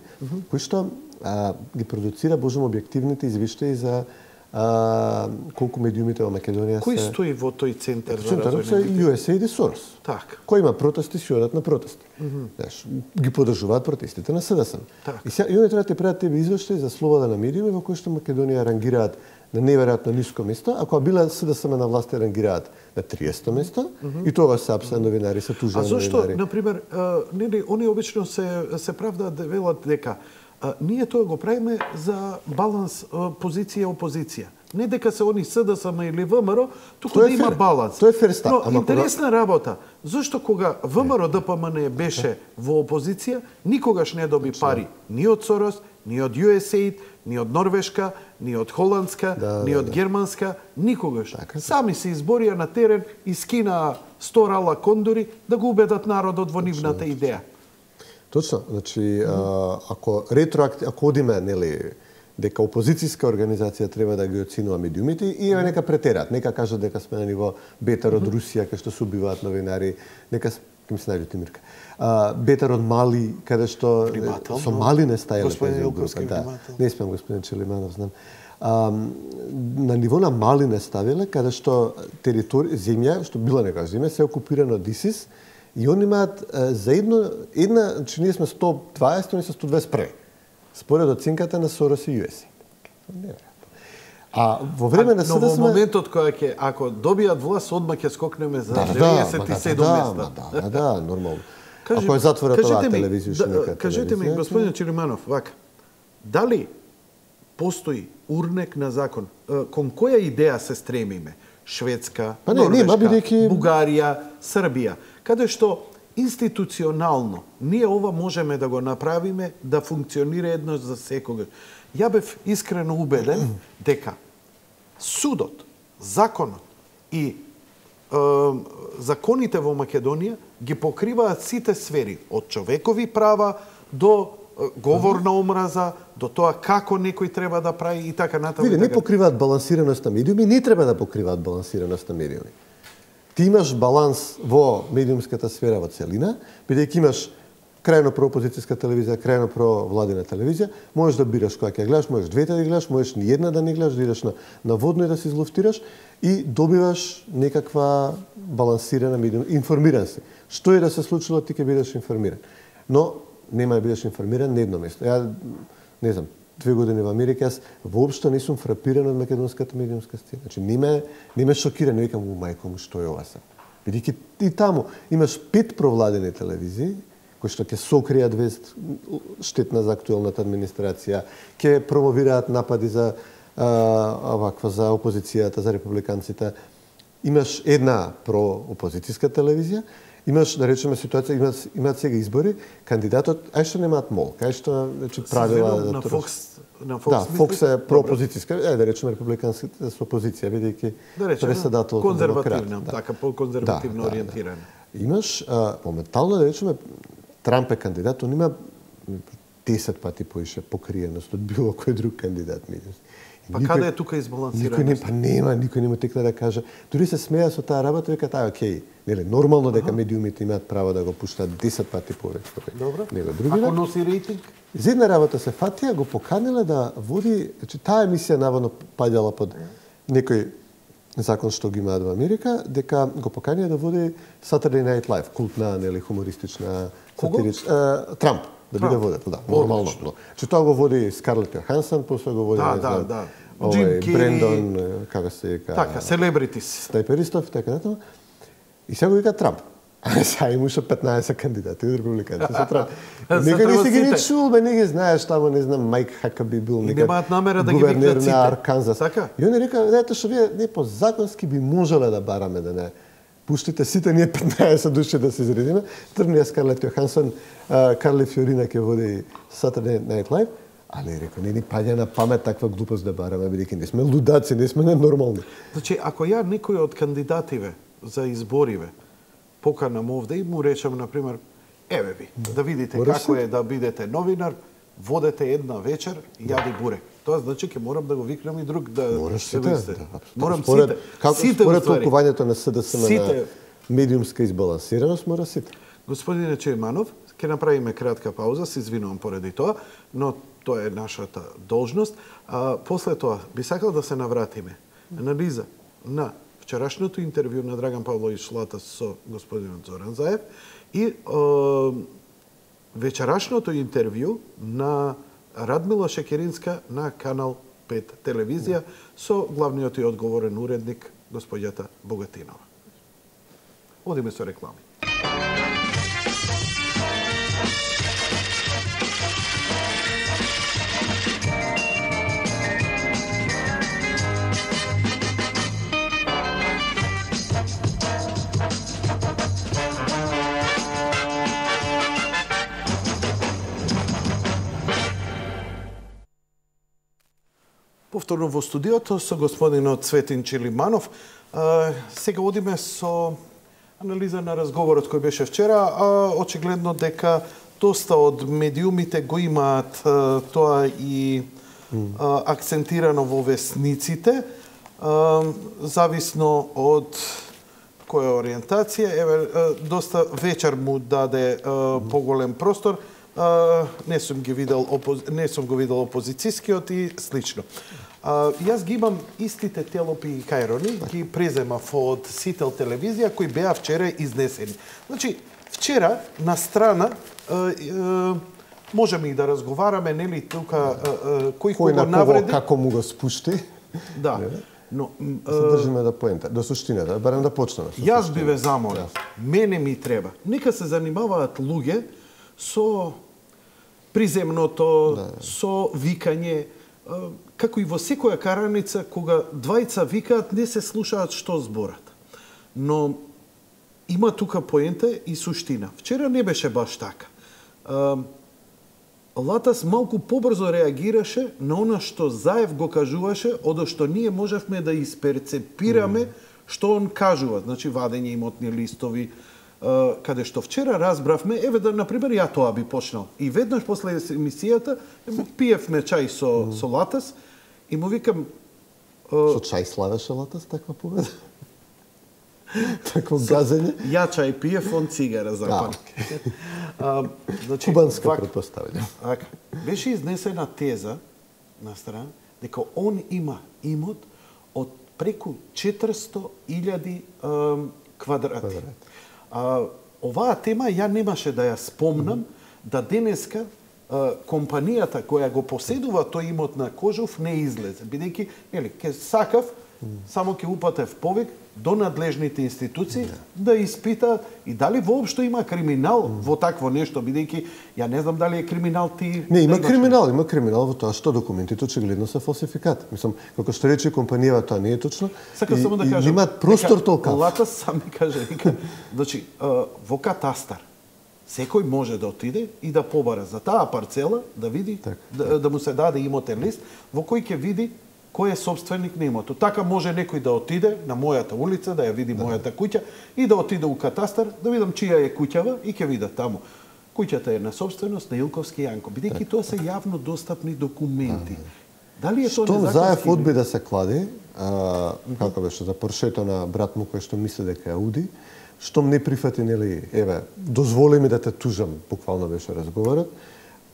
кој што а, ги продуцира божум објективните извештаи за а, колку медиумите во Македонија се... Кој стои во тој Центар за развој на медиуми? ю ес ей ай ди Сорос. Така. Кој има протести, си одат на протести. Mm -hmm. Знаеш, ги подржуваат протестите на СДСМ. Так. И сега и оние треба да прават тебе извештаи за слобода на медиуми во кои што Македонија рангираат на неверојатно ниско место, ако била СДСМ на власт рангираат на триесто место, mm -hmm. и тоа се апса новинари, се тужени новинари. А зашто, например, нели, они обично се, се правдаат да велат дека а, ние тоа го правиме за баланс позиција-опозиција. Не дека се они СДСМ или ВМРО, туку да има баланс. Тоа е фер став. Но Ама интересна кога... работа. Зошто кога ВМРО ДПМН беше во опозиција, никогаш не доби пари ни од Сорос, ни од ю ес ей ай ди, ни од Норвешка, ни од Холандска, да, ни од да, Германска, никогаш. Така, Сами се изборија на терен и скинаа сто рала кондори да го убедат народот во нивната идеја. Точно, значи mm -hmm. ако ретроакти, ако одиме, нели, дека опозицијска организација треба да ги оценува медиумите и еве нека претерат, нека кажат дека сме на ниво Бетар од Русија кај што се убиваат новинари, нека ќе ми се најде Тимирка. А, Бетар од Мали, каде што Внимател, со Мали не стајале господин Илковски, да. внимател. Не спеам господин Челиманов, знам. А, на ниво на Мали не ставиле, каде што територија, земја, што била некоја земја, се окупирана од ИСИС и они имаат за едно, една, значи ние сме сто дваесет, они се сто дваесет први. Според оценката на Сорос и ю ес ей ай. А во време на СДСМ... Но во моментот која ќе, ако добијат власт, одма ќе скокнеме за да, деветдесет и седум да, места. Да, да, да, нормално. Кажи, ако е затворат оваа телевизија, да, нека кажете ми, господин Чилиманов, вака, дали постои урнек на закон? Кон која идеја се стремиме? Шведска, па не, Норвешка, не, бидејќи... Бугарија, Србија, каде што институционално ние ова можеме да го направиме да функционира еднаш за секогаш. Ја бев искрено убеден дека судот, законот и е, законите во Македонија ги покриваат сите сфери, од човекови права до е, говор на омраза, до тоа како некој треба да прави и така натаму. Види, не покриваат балансираност на медиуми, не треба да покриваат балансираност на медиуми. Ти имаш баланс во медиумската сфера во целина, бидејќи имаш крајно проопозицијска телевизија, крајно провладина телевизија, можеш да бираш која ќе гледаш, можеш двете да гледаш, можеш ни една да не гледаш, да идеш на, на водно и да се излуфтираш и добиваш некаква балансирана медиум, информиран си. Што е да се случило, ти ќе бидеш информиран. Но нема да бидеш информиран на едно место. Ја не знам, две години во Америка, јас воопшто не сум фрапиран од македонската медиумска сцена. Значи, не ме, не ме шокира, не викам, у мајко му, што е ова се? Бидејќи и таму имаш пет провладени телевизии, кои што ќе сокријат вест штетна за актуелната администрација, ќе промовираат напади за а, оваква за опозицијата, за републиканците. Имаш една проопозицијска телевизија, имаш, да речеме, ситуација, имаат, имаат сега избори, кандидатот, ај што немаат мол, кај што значи, правила... На Фокс, на Фокс, да, Фокс е проопозицијска, е, да речеме, републиканските со опозиција, бидејќи да председател конзервативна, да. така, по-конзервативно да, ориентирана. Да, да. Имаш, а, моментално, да речеме, Трамп е кандидат, он има десет пати поише покриеност од било кој друг кандидат медиумски. Па никој, каде е тука избалансираност? Никој не, па нема, никој нема текна да каже. Дури се смеја со таа работа, вика таа, окей, нели, нормално дека медиумите имаат право да го пуштат десет пати повеќе. Добро. Него други. Ако носи рейтинг? За една работа се фатија, го поканиле да води, значи таа емисија наводно паѓала под некој закон што ги имаат во Америка, дека го поканија да води Saturday Night Live, култна, нели, хумористична, сатирична, Трамп да биде водител, да, нормално. Че тоа го води Скарлет Јоханссон, после го води, да, не знам, да, да. Овој, Брендон, како се вика... Така, селебритис. Снайперистов, така натаму. И сега го вика Трамп. А сега имаше петнаесет кандидати од републиканци со Трамп. Некој не си ги не чул, бе, не ги знаеш, таму, не знам, Майк Хакаби бил некој немаат намера да ги викнат сите. На Арканзас. Така? И он река, ето што вие не по законски би можеле да бараме да не пуштите сите ние петнаесет души да се изредиме. Трнија Скарлет Јоханссон, Карли Фиорина ќе води Saturday Night Live, али рекол, не ни паѓа на памет таква глупост да бараме, бидејќи не сме лудаци, не сме ненормални. Значи, ако ја некој од кандидативе за избориве поканам овде и му речам, например, еве ви, да видите Мора како си? е да бидете новинар, водете една вечер, јади бурек. Тоа значи ќе морам да го викнам и друг да Мораш се сите, висте. да, Морам според, сите. Како сите според уствари. толкувањето на СДСМ Сите. на медиумска избалансираност, мора сите. Господине Чејманов, ќе направиме кратка пауза, се извинувам поради тоа, но тоа е нашата должност. А, после тоа, би сакал да се навратиме. Анализа на вчерашното интервју на Драган Павлович Шлата со господинот Зоран Заев и е, вечерашното интервју на Радмила Шекеринска на канал пет телевизија со главниот и одговорен уредник господјата Богатинова. Одиме со реклами. Повторно во студиото со господинот Цветин Чилиманов. А, сега одиме со анализа на разговорот кој беше вчера, а очигледно дека доста од медиумите го имаат а, тоа и а, акцентирано во весниците, а, зависно од која ориентација. Еве, а, доста вечер му даде а, поголем простор. Uh, не сум ги видел опози... не сум го видел опозицијскиот и слично. Uh, јас ги имам истите телопи и кајрони, ги преземав од Сител телевизија кои беа вчера изнесени. Значи, вчера на страна uh, uh, можеме и да разговараме, нели тука uh, uh, кој кого навреди, како му го спушти. Да. Но се држиме до поента, до суштината, барем да почнеме. Јас би ве замолил. Мене ми треба. Нека се занимаваат луѓе со приземното, да, со викање, како и во секоја караница, кога двајца викаат, не се слушаат што зборат. Но има тука поента и суштина. Вчера не беше баш така. Латас малку побрзо реагираше на она што Заев го кажуваше, одошто ние можевме да исперцепираме што он кажува. Значи, вадење имотни листови, каде што вчера разбравме, еве да, например, ја тоа би почнал. И веднаш после емисијата, пиевме чај со, mm. со Латас и му викам... Со чај славеше Латас таква победа? Такво газење? Ја чај пиев, он цигара запали. А, значи, кубанска вак, предпоставење. Беше изнесена теза на страна дека он има имот од преку четиристо илјади квадрати. Квадрат. А, оваа тема ја немаше да ја спомнам, mm -hmm. да денеска а, компанијата која го поседува тој имот на Кожув не излезе, бидејќи, нели, ке сакав, mm -hmm. само ќе упатев повик до надлежните институции yeah. да испитаат и дали воопшто има криминал mm. во такво нешто, бидејќи ја не знам дали е криминал ти... Не, има криминал, има криминал во тоа што документите очигледно се фалсификат. Мислам, како што рече компанијава, тоа не е точно. Сакам само да кажам, имаат простор толкав. Лата сам ми каже, вика, значи, во катастар секој може да отиде и да побара за таа парцела, да види, так, да, так. да му се даде имотен лист, во кој ќе види кој е собственик на имотот. Така може некој да отиде на мојата улица, да ја види да. мојата куќа и да отиде у катастар, да видам чија е куќава и ќе видат таму. Куќата е на собственост на Илковски Јанко, бидејќи тоа се јавно достапни документи. Да. Дали е тоа незаконски? Штом Заев одби да се клади, а, како беше за поршето на брат му кој што мисли дека е Ауди, штом не прифати, нели, еве, дозволи ми да те тужам, буквално беше разговорот,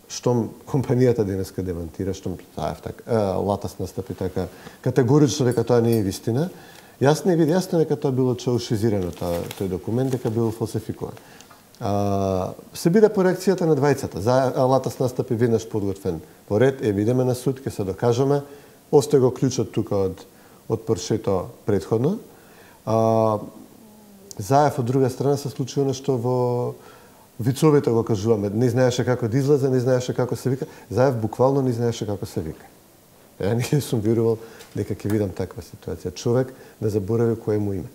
штом компанијата денеска демантира, штом Заев така, Латас настапи така категорично дека тоа не е вистина, јасно е види, јасно е дека тоа било чаушизирано, тоа, тој документ, дека било фалсификуван. А, се биде по реакцијата на двајцата. За Латас настапи веднаш подготвен по ред, е видиме на суд, ќе се докажеме, остај го клучот тука од, од Поршето предходно. А, Заев, од друга страна, се случи нешто во вицовите го кажуваме, не знаеше како да излезе, не знаеше како се вика. Заев буквално не знаеше како се вика. Ја не сум верувал дека ќе видам таква ситуација. Човек да заборави кој му име.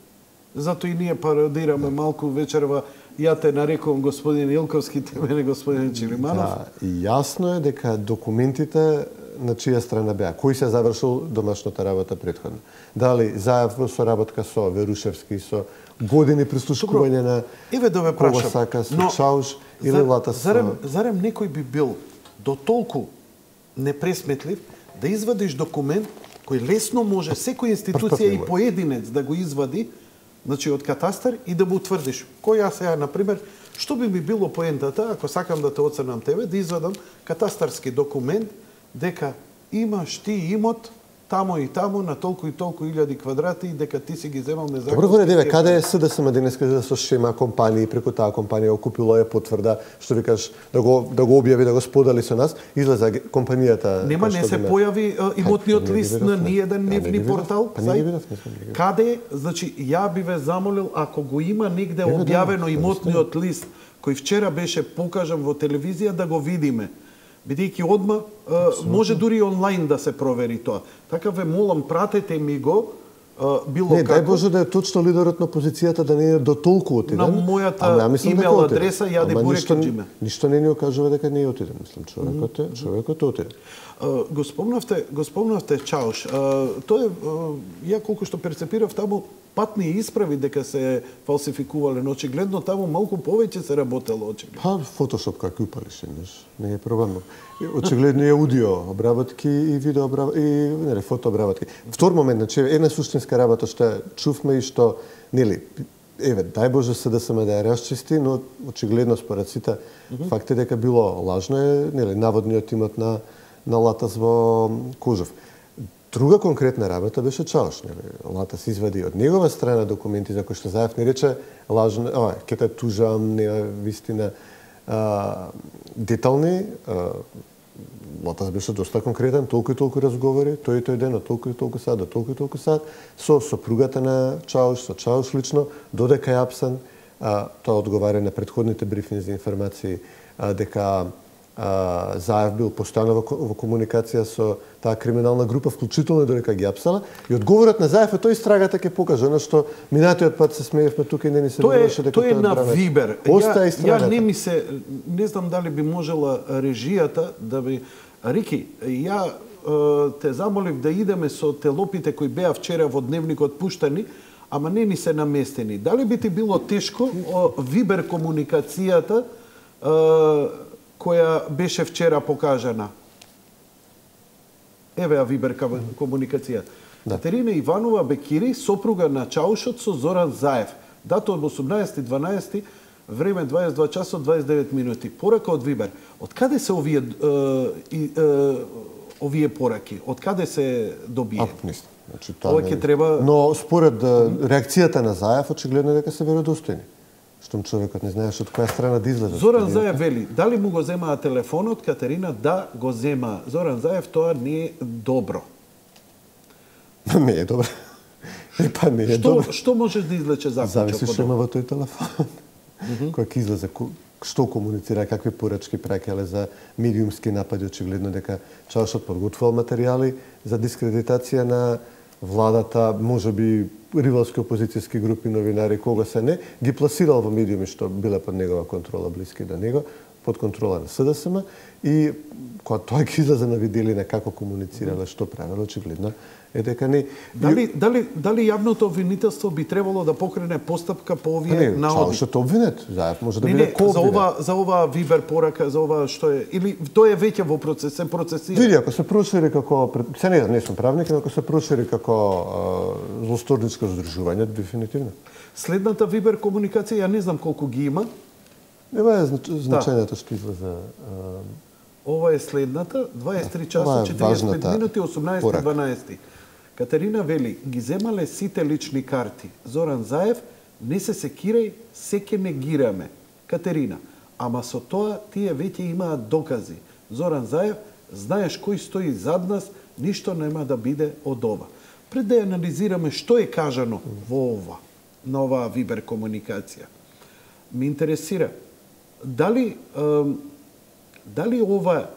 Зато и ние пародираме да. малку вечерва, ја те нарекувам господин Илковски, те мене господин Чилиманов. Да, и јасно е дека документите на чија страна беа, кој се завршил домашната работа предходно. Дали Заев во соработка со Верушевски, со години прислушкување на еве да ве прашам, Сака, со Чауш или Латас. Зарем, зарем некој би бил до толку непресметлив да извадиш документ кој лесно може секоја институција и поединец да го извади, значи од катастар и да му утврдиш. Кој јас сега, например, што би ми било поентата, ако сакам да те оценам тебе, да извадам катастарски документ дека имаш ти имот тамо и тамо на толку и толку илјади квадрати и дека ти си ги земал незаконски. Добро горе деве, каде е СДСМ денеска да со шема компании преку таа компанија окупило е потврда, што ви кажеш, да го да го објави, да го сподели со нас, излезе компанијата. Нема, не се појави имотниот лист на ниеден нивни портал. Па не ги видов, не сум ги. Каде, значи ја би ве замолил ако го има негде објавено имотниот лист кој вчера беше покажан во телевизија да го видиме. Бидејќи одма може дури онлайн да се провери тоа. Така ве молам, пратете ми го било не, како. Дај Боже да е точно лидерот на опозицијата да не е до толку отиден. На мојата имейл адреса јаде бурекиджиме. Ништо не ни окажува дека не е отиден, мислам, човекот е, човекот е отиден. Го спомнавте, го спомнавте Чауш. Тоа е, ја колку што перцепирав таму патни исправи дека се фалсификувале, но очигледно таму малку повеќе се работело очигледно. Па фотошоп како упалиш еднаш, не е проблем. Очигледно е аудио обработки и видео обработки и нели фото обработки. Втор момент, значи една суштинска работа што чувме и што нели еве дај Боже СДСМ да ја расчисти, но очигледно според сите mm -hmm. факт е дека било лажно е нели наводниот имот на на Латас во Кужов. Друга конкретна работа беше Чауш. Латас извади од негова страна документи за кои што Заев не рече лажно, ова, ќе те тужам, не вистина, а, детални. А, Латас беше доста конкретен, толку и толку разговори, тој и тој ден, толку и толку сад, толку и толку сад, со сопругата на Чауш, со Чауш лично, додека е апсен, а, тоа одговара на предходните брифинги за информации, а, дека Uh, Заев бил постојано во, во комуникација со таа криминална група, вклучително додека ги апсала. И одговорот на Заев е тој страгата ќе покаже, она што минатиот пат се смеевме тука и не ни се довереше дека тоа е на Вибер. Оста ја, ја не ми се, не знам дали би можела режијата да би Рики, ја те замолив да идеме со телопите кои беа вчера во дневникот пуштани, ама не ни се наместени. Дали би ти било тешко Вибер комуникацијата која беше вчера покажана? Еве ја Вибер комуникација. Да. Катерина Иванова Бекири, сопруга на Чаушот со Зоран Заев. Дата од осумнаесети дванаесети, време дваесет и два часот дваесет и девет минути. Порака од Вибер. Од каде се овие е, е, овие пораки? Од каде се добие? А, мислам. Значи, тоа ќе треба... Но според реакцијата на Заев, очигледно дека се веродостојни. Штом човекот не знаеш од која страна да излезе. Зоран Заев вели, дали му го земаа телефонот, Катерина, да го зема. Зоран Заев, тоа не е добро. Не е добро. Е, па не е што, добро. Што можеш да излече заклучок? Зависи што има во тој телефон. Кој ќе излезе, што комуницира, какви порачки праќале за медиумски напади, очигледно дека Чаушот подготвувал материјали за дискредитација на владата, можеби ривалски опозицијски групи, новинари, кога се не, ги пласирал во медиуми што биле под негова контрола, блиски до него, под контрола на СДСМ и кога тој ги излезе на виделина како комуницирале, што правело, очигледно е дека не... Дали, дали, дали јавното обвинителство би требало да покрене постапка по овие не, наоди? Чаушот обвинет, Заев може да не, биде не, ко за ова, за ова Вибер порака, за ова што е, или тоа е веќе во процес, се процесира? Види, ако се прошири како, се не, не сум правник, но ако се прошири како злосторничко здружување, дефинитивно. Следната Вибер комуникација, ја не знам колку ги има. Ева е значењето што излезе. Ова е следната, дваесет и три часа, четириесет и пет минути, осумнаесети дванаесети. Катерина вели, ги земале сите лични карти. Зоран Заев, не се секирај, се ке негираме. Катерина, ама со тоа тие веќе имаат докази. Зоран Заев, знаеш кој стои зад нас, ништо нема да биде од ова. Пред да анализираме што е кажано во ова, на оваа Вибер комуникација, ми интересира, дали, е, дали ова...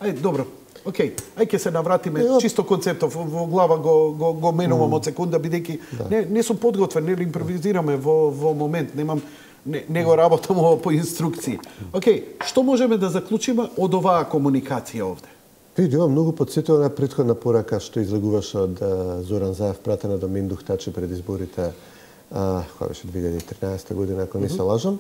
Ај, добро, окей, ај ќе се навратиме, Ева... чисто концептов, во глава го, го, го менувам mm. од секунда, бидејќи да. не, не сум подготвен, не импровизираме во, во момент, немам, не, не го работам по инструкции. Окей, што можеме да заклучиме од оваа комуникација овде? Види, ова многу подсетува на претходна порака што излегуваше од Зоран Заев, пратена до Миндух Тачи пред изборите, а, која беше две илјади и тринаесета година, ако не се лажам.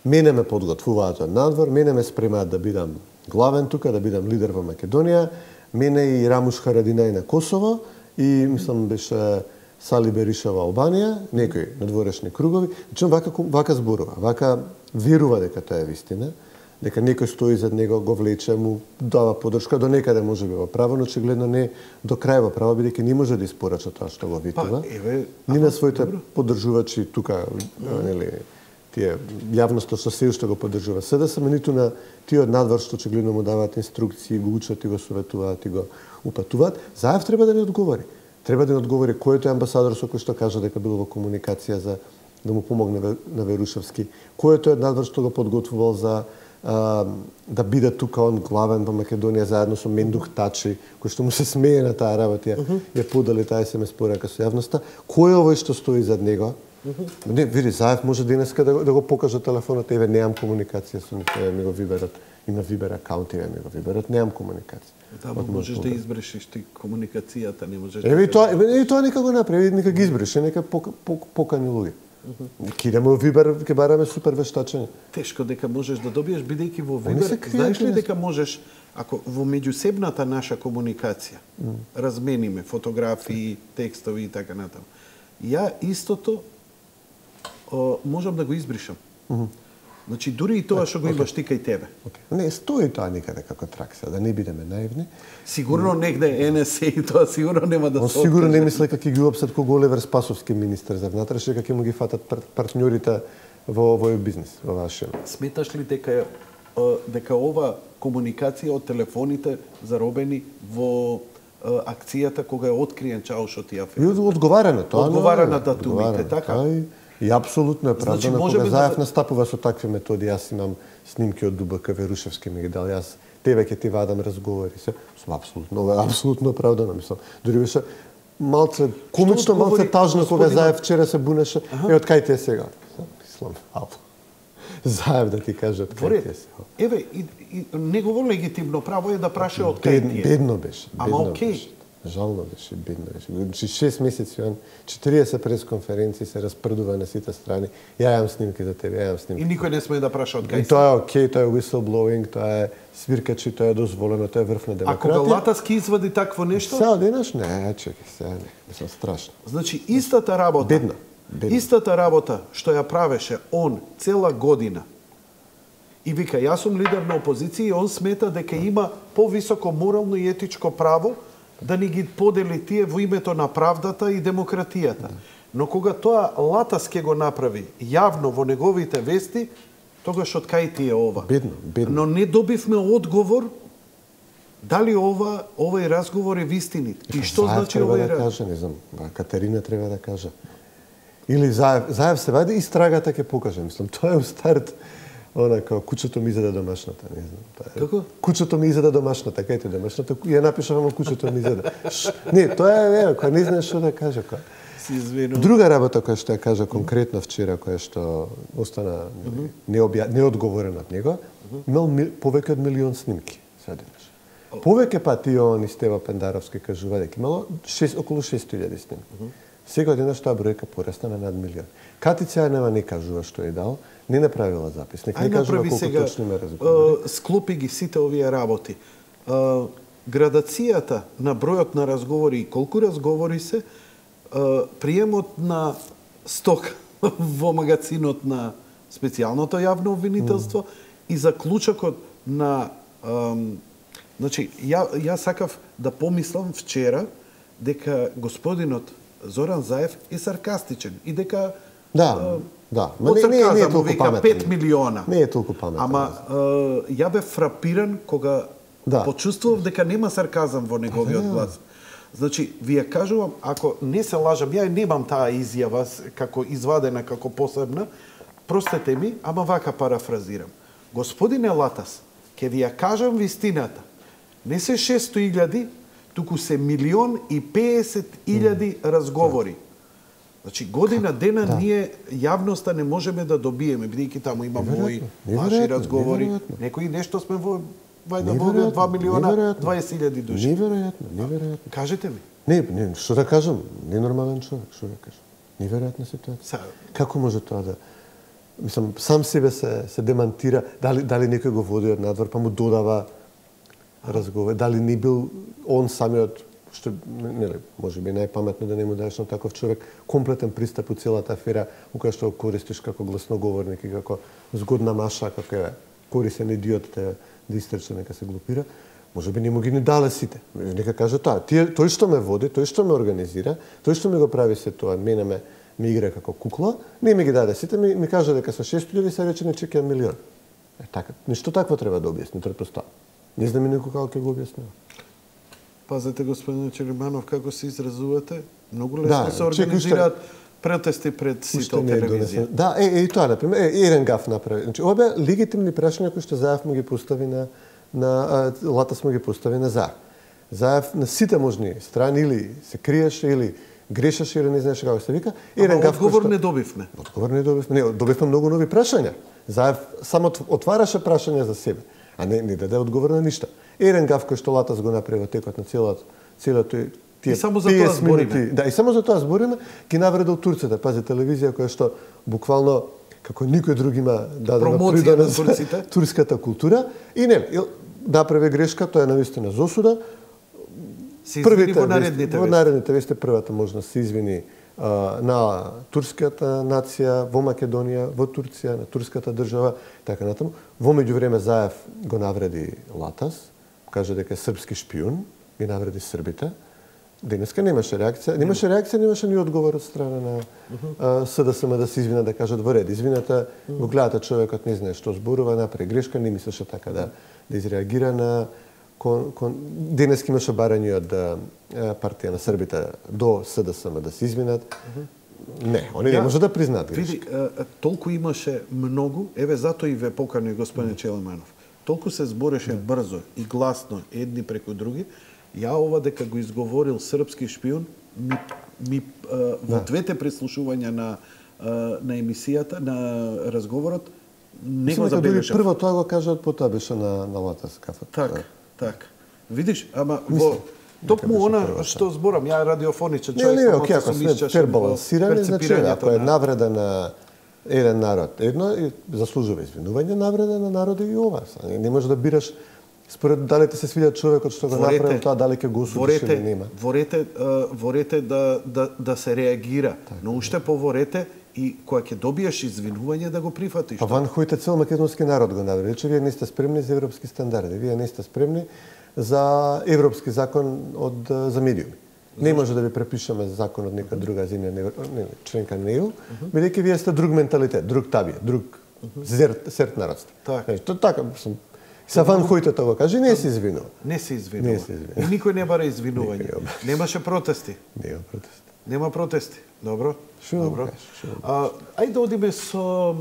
Мене ме подготвуваат од надвор, мене ме спремаат да бидам главен тука, да бидам лидер во Македонија, мене и Рамуш Харадинај на Косово и, мислам, беше Сали Бериша во Албанија, некои надворешни кругови. Значи, вака, вака зборува, вака верува дека тоа е вистина, дека некој стои зад него, го влече, му дава подршка, до некаде може би во право, но очигледно не до крај во право, бидејќи не може да испорача тоа што го витува. Па, еве, ни на своите добро. Поддржувачи тука, mm. нели, тие јавноста што се уште го поддржува СДСМ, ниту на тие од надвор што очигледно му даваат инструкции, го учат и го советуваат и го упатуваат. Заев треба да ни одговори. Треба да ни одговори кој е тој амбасадор со кој што кажа дека бил во комуникација за да му помогне на Верушевски. Кој е тој надвор што го подготвувал за а, да биде тука он главен во Македонија заедно со Мендух Тачи, кој што му се смее на таа работа, uh -huh. ја подали таа ес ем ес порака со јавноста. Кој е овој што стои зад него? Uh -huh. Не, види, Заев може денеска да, да го покаже телефонот, еве немам комуникација со нив, еве ми го виберат, има Вибер акаунт, еве ми го виберат, немам комуникација. Да, можеш да избрешиш ти комуникацијата, не можеш. Еве и тоа, еве и тоа нека го направи, нека ги избреше, нека покани луѓе. Ќе идеме во Вибер, ќе бараме супер вештачење. Тешко дека можеш да добиеш, бидејќи во Вибер, знаеш ли дека можеш, ако во меѓусебната наша комуникација, mm. размениме фотографии, текстови и така натаму, ја истото о, можам да го избришам. Mm -hmm. Значи, дури и тоа што го имаш ти кај тебе. Okay. Не, стои тоа никаде како тракса, да не бидеме наивни. Сигурно mm. негде Ен Ес Е и тоа сигурно нема да се откаже. Сигурно не мисле како ги опсат ко Оливер Спасовски министер за внатрешни, како му ги фатат пар партньорите во овој бизнис, во вашиот. Сметаш ли дека дека ова комуникација од телефоните заробени во акцијата кога е откриен Чаушот и афера? И одговара на тоа. Одговара на датумите, така? И апсолутно е правдано, значи, кога да... Заев настапува со такви методи, јас имам снимки од ДУБК, Верушевски ми ги дал, јас тебе ќе ти вадам разговори се, сум апсолутно, ова е апсолутно оправдано, мислам. Дури беше малце комично, малце тажно кога господина... Заев вчера се бунеше, ага. Е од кај ти е сега? Мислам, ало. Заев да ти каже од кај ти е сега. Еве, и, и негово легитимно право е да праше од кај ти е. Бедно беше, бедно Ама окей. Беше. Жално беше, бедно беше. Значи шест месеци он, четириесет пресконференции се распрдува на сите страни. Ја јам снимки за тебе, ја јам снимки. И никој не смее да праша од кај си. Тоа е окей, тоа е whistleblowing, тоа е свиркачи, тоа е дозволено, тоа е врв на демократија. А кога Латаски извади такво нешто? Сега денаш не, чекай, сега не, мислам страшно. Значи истата работа. Бедна. Бедна. Истата работа што ја правеше он цела година. И вика, јас сум лидер на опозиција и он смета дека има повисоко морално и етичко право да ни ги подели тие во името на правдата и демократијата. Но кога тоа Латас ке го направи јавно во неговите вести, тогаш од кај ти е ова? Бедно, бедно. Но не добивме одговор дали ова овој разговор е вистинит. И што Заев значи овој овој да каже, не знам, Катерина треба да каже. Или Заев, Заев се вади и страгата ќе покаже, мислам, тоа е у старт. Она како кучето ми изеде домашната, не знам. Тоа е. Како? Кучето ми изеде домашната, кај ти домашната, ја напишав во кучето ми изеде. Не, тоа е, е, кога не знаеш што да каже, кога. Си извинувам. Друга работа која што ја кажа конкретно вчера, која што остана mm -hmm. необја... неодговорена од него, mm -hmm. имал ми... повеќе од милион снимки, седимаш. Oh. Повеќе пати он и Стева Пендаровски кажува дека имало шест, околу шест илјади снимки. Mm -hmm. Сега денес таа бројка порасна на над милион. Катица нема не кажува што е дал, не направила записник, не кажува колку сега, точно ме разговори. Склопи ги сите овие работи. А, градацијата на бројот на разговори и колку разговори се, а, приемот на сток во магазинот на специјалното јавно обвинителство mm. и заклучокот на... А, значи, ја, ја сакав да помислам вчера дека господинот Зоран Заев е саркастичен и дека да, а, да, ма не, не, не е толку паметен. пет милиона. Не е толку паметен. Ама а, ја бев фрапиран кога да. почувствував дека нема сарказам во неговиот да. глас. Значи, ви ја кажувам, ако не се лажам, ја немам таа изјава како извадена, како посебна, простете ми, ама вака парафразирам. Господине Латас, ќе ви ја кажам вистината. Не се шестоста илјади, туку се милион и педесет илјади mm. разговори. Значи, година дена да. ние јавноста не можеме да добиеме, бидејќи таму има мои ваши разговори. Неверојатно. Некои нешто сме во вајда во два милиона дваесет илјади души. Неверојатно, неверојатно. Кажете ми. Не, не, што да кажам, ненормален човек, што да кажам. Неверојатна ситуација. Са... Како може тоа да... Мислам, сам себе се, се демантира, дали, дали некој го води од надвор, па му додава разговор, дали не бил он самиот, што, нели, може би најпаметно да не му даеш на таков човек комплетен пристап у целата афера, у која што го користиш како гласноговорник и како згодна маша, како е корисен идиот да, да истрче, нека се глупира, може би не му ги не дале сите. Нека каже тоа, тие, тој што ме води, тој што ме организира, тој што ми го прави се тоа, мене ме, ме игра како кукла, не ми ги даде сите, ми, ми каже дека со шест илјади се рече не чекам милион. Е, така, нешто такво треба да објасни, претпоставам. Не знам и некој како ќе го објаснува. Пазете, господин Челиманов, како се изразувате. Многу лесно Да, се организираат протести пред сите телевизија. Да, е, е, и тоа, например, е, еден гаф направи. Значи, ова беа легитимни прашања кои што Заев му ги постави на, на а, Латас му ги постави на Заев. Заев на сите можни страни или се криеше, или грешеше, или не знаеше како се вика. Еден гаф одговор што... не добивме. Одговор не добивме. Не, добивме многу нови прашања. Заев само отвараше прашања за себе, а не, не даде одговор на ништо. Еден гаф кој што Латас го направи во текот на целото, целото и само за тоа збориме. Да, и само за тоа збориме, ги навредил турците. Пази, телевизија која што буквално како никој друг има дадена придонес за турската култура и не, направи грешка, тоа е навистина за осуда. Се извини во наредните вести. Во наредните вести првата можна се извини а, на турската нација во Македонија, во Турција, на турската држава, така натаму. Во меѓувреме Заев го навреди Латас, каже дека е српски шпион, ги навреди србите. Денеска немаше реакција, немаше реакција, немаше ни одговор од страна на uh, СДСМ да се извина, да кажат во ред. Извината, го гледате човекот не знае што зборува, направи грешка, не мислеше така да да изреагира на кон, кон... денеска имаше барање од партија на србите до СДСМ да се извинат. Не, они не може да признаат грешка. Види, толку имаше многу, еве затоа и ве покани господин Челиманов. Толку се збореше брзо и гласно едни преку други. Ја ова дека го изговорил српски шпион, ми, ми а, во двете преслушувања на а, на емисијата, на разговорот, не го забележав. Прво тоа го кажат, потоа беше на на Латас кафот. Так, так. Видиш, ама во токму она што зборам, ја радиофоничен човек, не, не, окей, ако сме пербалансирани, значи ако е навреда на еден народ, едно заслужува извинување, навреда на народи и ова. Не може да бираш според дали ти се свиѓа човекот што го направил тоа, дали ќе го осудиш или нема. Ворете, ворете да, да, да се реагира, так, но уште поворете и кога ќе добиеш извинување да го прифатиш. Па Ван Хојте цел македонски народ го навреди, че вие не сте спремни за европски стандарди, вие не сте спремни за европски закон од за медиуми. Не може да ви препишеме закон од нека друга земја, не, не, членка на ЕУ, бидејќи вие сте друг менталитет, друг табија, друг зерт, серт народство. Така. Тоа така, Са Ван Хојте тоа каже, не се извинува. Не се извинува. Не се извинува. И никој не бара извинување. Немаше протести. Нема протести. Нема протести. Добро. Шо Добро. А, ајде да одиме со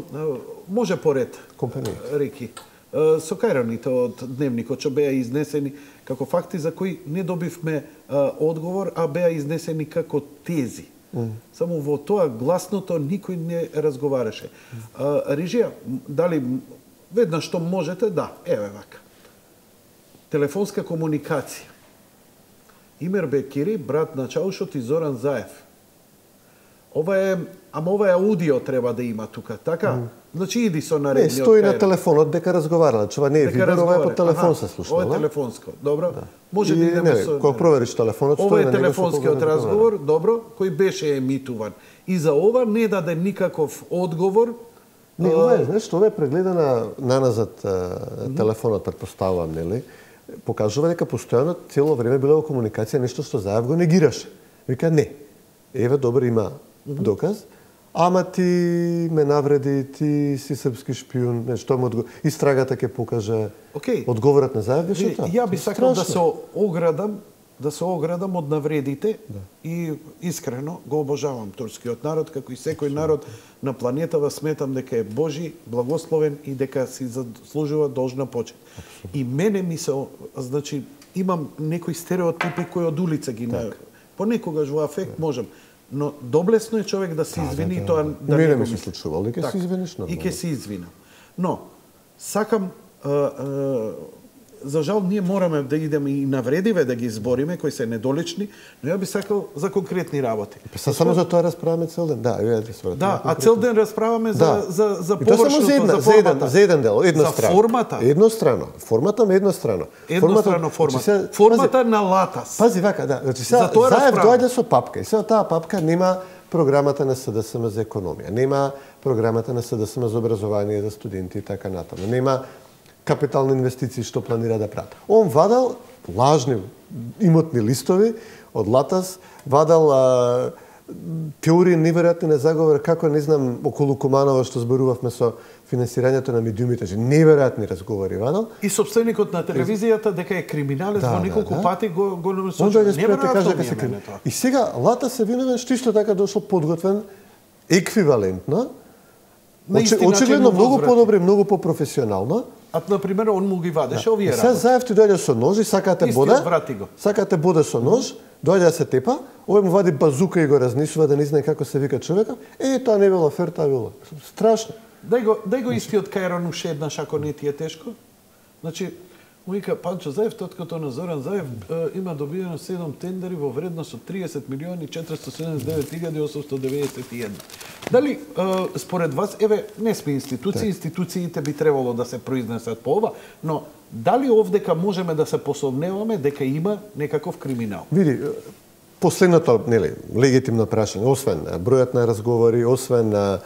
може поред. Компанија. Реки. Со кајраните од дневникот што беа изнесени како факти за кои не добивме а, одговор, а беа изнесени како тези. Mm. Само во тоа гласното никој не разговараше. А, Рижија, дали веднаш што можете, да, еве вака. Телефонска комуникација. Имер Бекири, брат на Чаушот и Зоран Заев. Ова е, ама ова е аудио треба да има тука, така? Mm. Значи иди со наредниот. Не, стои на телефонот дека разговарала, ова не е видео, ова е по телефон се слушнала. Ова е телефонско, добро. Да. Може и, да идеме не, со... Кога провериш телефонот, ова е телефонскиот разговор, добро, кој беше емитуван. И за ова не даде никаков одговор. Не, ова е, знаеш, ова е прегледана наназад телефонот, предпоставувам, нели? Покажува дека постојано цело време било во комуникација нешто што Заев го негираше. Вика не. Еве добро има доказ. Ама ти ме навреди, ти си српски шпион, нешто му одговор. Истрагата ќе покаже. Okay. Одговорот на Заев беше тоа. Ја би сакал да се оградам, да се оградам од навредите, да. И искрено го обожавам турскиот народ, како и секој народ на планетава, сметам дека е Божи, благословен и дека си заслужува должна почит. Абсолютно. И мене ми се, значи, имам некои стереотипи кои од улица ги на... Понекогаш во афект можам, но доблесно е човек да се извини, да, да, тоа да не ми се случувало, и ќе се извиниш нормално. И ќе се извинам. Но сакам а, а, за жал ние мораме да идеме и навредиве да ги избориме кои се недолични, но ја би сакал за конкретни работи. Па само за тоа расправаме цел ден. Да, ја да Да, а цел ден расправаме за да. за за површното, за, за, за еден за еден дел, еднострано. За формата. Еднострано. Формата ме еднострано. Еднострано формата. Формата, формата на Латас. Пази вака, да. Значи сега Заев доаѓа со папка и сега таа папка нема програмата на СДСМ за економија, нема програмата на СДСМ за образование за студенти и така натаму. Нема капитални инвестиции што планира да прават. Он вадал лажни имотни листови од Латас, вадал а, теории неверојатни на заговор, како не знам околу Куманова што зборувавме со финансирањето на медиумите, неверојатни разговори вадал. И собственикот на телевизијата дека е криминалец да, во неколку да, да. пати го го насочи. Он дојде според те каже дека се криминалец. И сега Лата се виновен што исто така дошол подготвен еквивалентно. Очигледно многу подобро, многу попрофесионално. А на пример он му ги вадеше да. овие работи. Се Заев ти дојде со нож и сакате бода. Сакате бода со нож, дојде да се тепа, овој му вади базука и го разнесува да не знае како се вика човека. Е, тоа не било фер, тоа било страшно. Дај го, дај го истиот Кајрон уште еднаш ако не ти е тешко. Значи, му вика Панчо Заев, тоткото на Зоран Заев е, има добиено седум тендери во вредност од триесет милиони четиристотини седумдесет и девет илјади осумстотини деведесет и една. Дали, е, според вас, еве, не сме институции, институциите би требало да се произнесат по ова, но дали овдека можеме да се посомневаме дека има некаков криминал? Види, последното, нели, легитимно прашање, освен бројот на разговори, освен на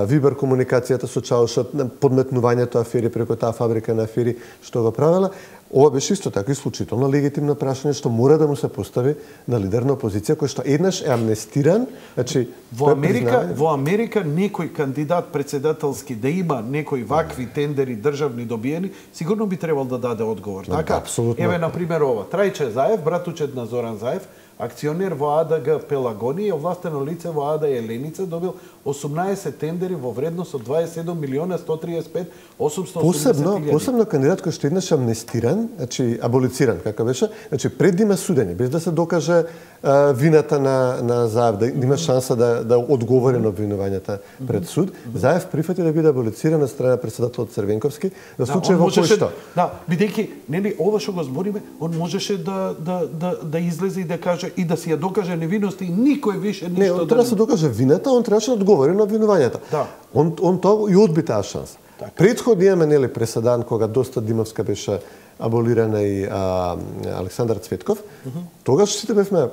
вибер комуникацијата со Чаушот, подметнувањето афери преку таа фабрика на афери што го правела, ова беше исто така исклучително легитимно прашање што мора да му се постави на лидер на опозиција кој што еднаш е амнестиран, значи во Америка, во Америка некој кандидат председателски да има некои вакви тендери државни добиени, сигурно би требал да даде одговор, no, така? Апсолутно. Еве на пример ова, Трајче Заев, братучет на Зоран Заев, акционер во А Д Г Пелагони и овластено лице во А Д Еленица добил осумнаесет тендери во вредност од дваесет и седум милиона сто триесет и пет осумстотини осумдесет посебно илјади. Посебно кандидат кој што еднаш амнестиран, значи аболициран како беше, значи пред да има судење, без да се докаже а, вината на на Заев, да има шанса да да одговори на обвинувањата пред суд, Заев прифати да биде аболициран од страна председателот Црвенковски за случај во кој што. Да, бидејќи нели ова што го збориме, он можеше да да да да излезе и да каже и да си ја докаже невиност и никој више ништо не, он да треба да се докаже вината, он требаше да одговори на обвинувањата. Да. Он он тоа и одби таа шанса. Так. Предходно имаме нели преседан кога доста Димовска беше аболирана и а, Александар Цветков. Uh -huh. Тогаш сите бевме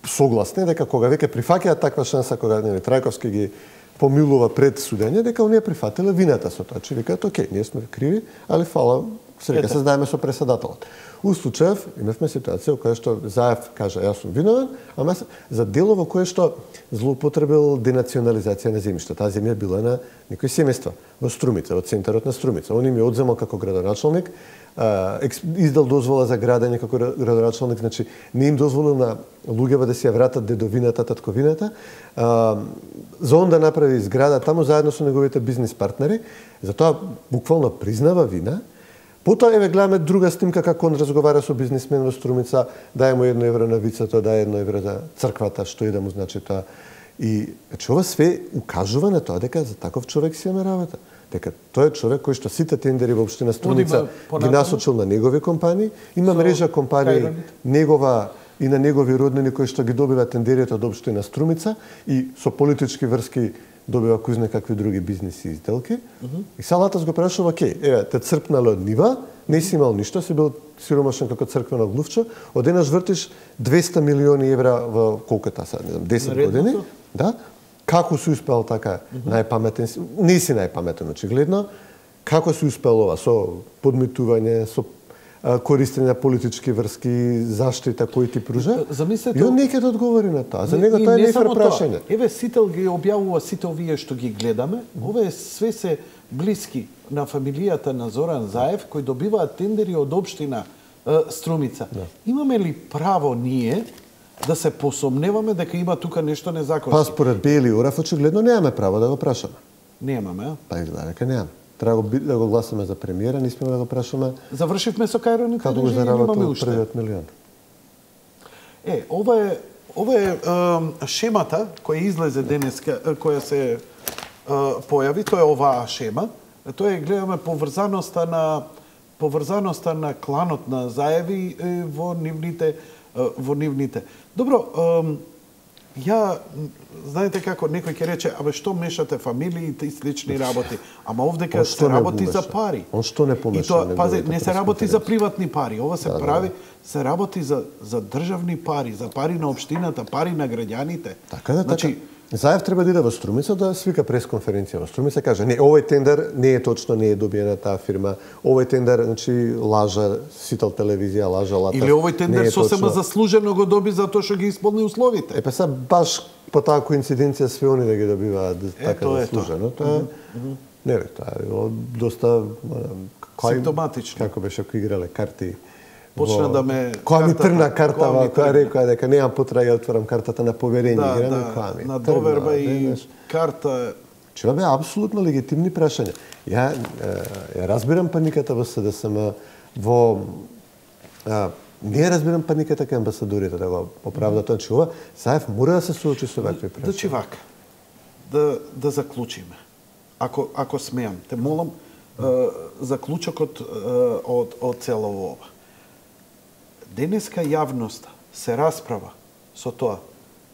согласни дека кога веќе прифаќаат таква шанса, кога нели Трајковски ги помилува пред судење, дека оние прифатиле вината со тоа, че викаат окей, ние сме криви, али фала, се века се знаеме со преседателот. У случајов имавме ситуација во која што Заев каже јас сум виновен, ама за дело во кое што злоупотребил денационализација на земјишта. Таа земја била на некои семејства во Струмица, во центарот на Струмица. Он им ја одземал како градоначалник, издал дозвола за градење како градоначалник, значи не им дозволил на луѓева да си ја вратат дедовината, татковината. За он да направи зграда таму заедно со неговите бизнис партнери, затоа буквално признава вина. Потоа еве гледаме друга снимка како он разговара со бизнисмен во Струмица, дај му едно евро на вицето, дај едно евро за црквата, што и да му значи тоа. И значи ова све укажува на тоа дека за таков човек си има работа. Дека тој е човек кој што сите тендери во општина Струмица ги насочил на негови компании, има мрежа компании негова и на негови роднини кои што ги добива тендерите од општина Струмица и со политички врски добива кој знае какви други бизнеси и сделки. Uh -huh. И Салатас го прашува, окей, еве, те црпнале од нива, не си имал ништо, си бил сиромашен како црквено глувче, одеднаш вртиш двесте милиони евра во колката сега, не знам, десет години. Да? Како си успел така uh -huh. најпаметен, не си најпаметен очигледно, како си успел ова со подмитување, со користење на политички врски, заштита кои ти пружа. Замислете, и он не ќе да одговори на тоа. За него тоа е нефер прашање. Еве Сител ги објавува сите овие што ги гледаме. Овие све се блиски на фамилијата на Зоран Заев кои добиваат тендери од општина е, Струмица. Да. Имаме ли право ние да се посомневаме дека има тука нешто незаконско? Па според Бели Урав очигледно немаме право да го прашаме. Немаме, а? Па изгледа дека немаме. Треба да го гласаме за премиера, не сме да го прашаме. Завршивме со Кајроните, како го заработил првиот милион. Е, ова е ова е, е шемата која излезе денеска, која се е, појави, тоа е оваа шема. Тоа е гледаме поврзаноста на поврзаноста на кланот на Заеви во нивните во нивните. Добро, ја, знаете како, некој ќе рече, абе што мешате фамилиите и слични работи, ама овдека се работи за пари. Он што не помеша? И тоа, пази, не се работи за приватни пари, ова се да, прави, да. се работи за, за државни пари, за пари на општината, пари на граѓаните. Така да, значи, така. Заев треба да иде во Струмица да свика пресконференција во Струмица, каже не, овој тендер не е точно, не е добиена таа фирма. Овој тендер, значи, лажа Сител телевизија, лажа Латас. Или овој тендер сосема заслужено го доби затоа што ги исполни условите. Е па са баш по таа коинциденција све они да ги добиваат така заслужено. Тоа е не бе, тоа е било доста симптоматично. Како беше кои играле карти. Почна да ме која ми трна карта, која рекоа дека немам потреба да отворам картата на поверење, да, играме да, која ми. На доверба и карта. Чува бе апсолутно легитимни прашања. Ја ја разбирам паниката во СДСМ, во а, не разбирам паниката кај амбасадорите да го оправда тоа, че ова Заев мора да се соочи со вакви прашања. Значи вака. Да да заклучиме. Ако ако смеам, те молам заклучокот од од цело ова. Денеска јавноста се расправа со тоа.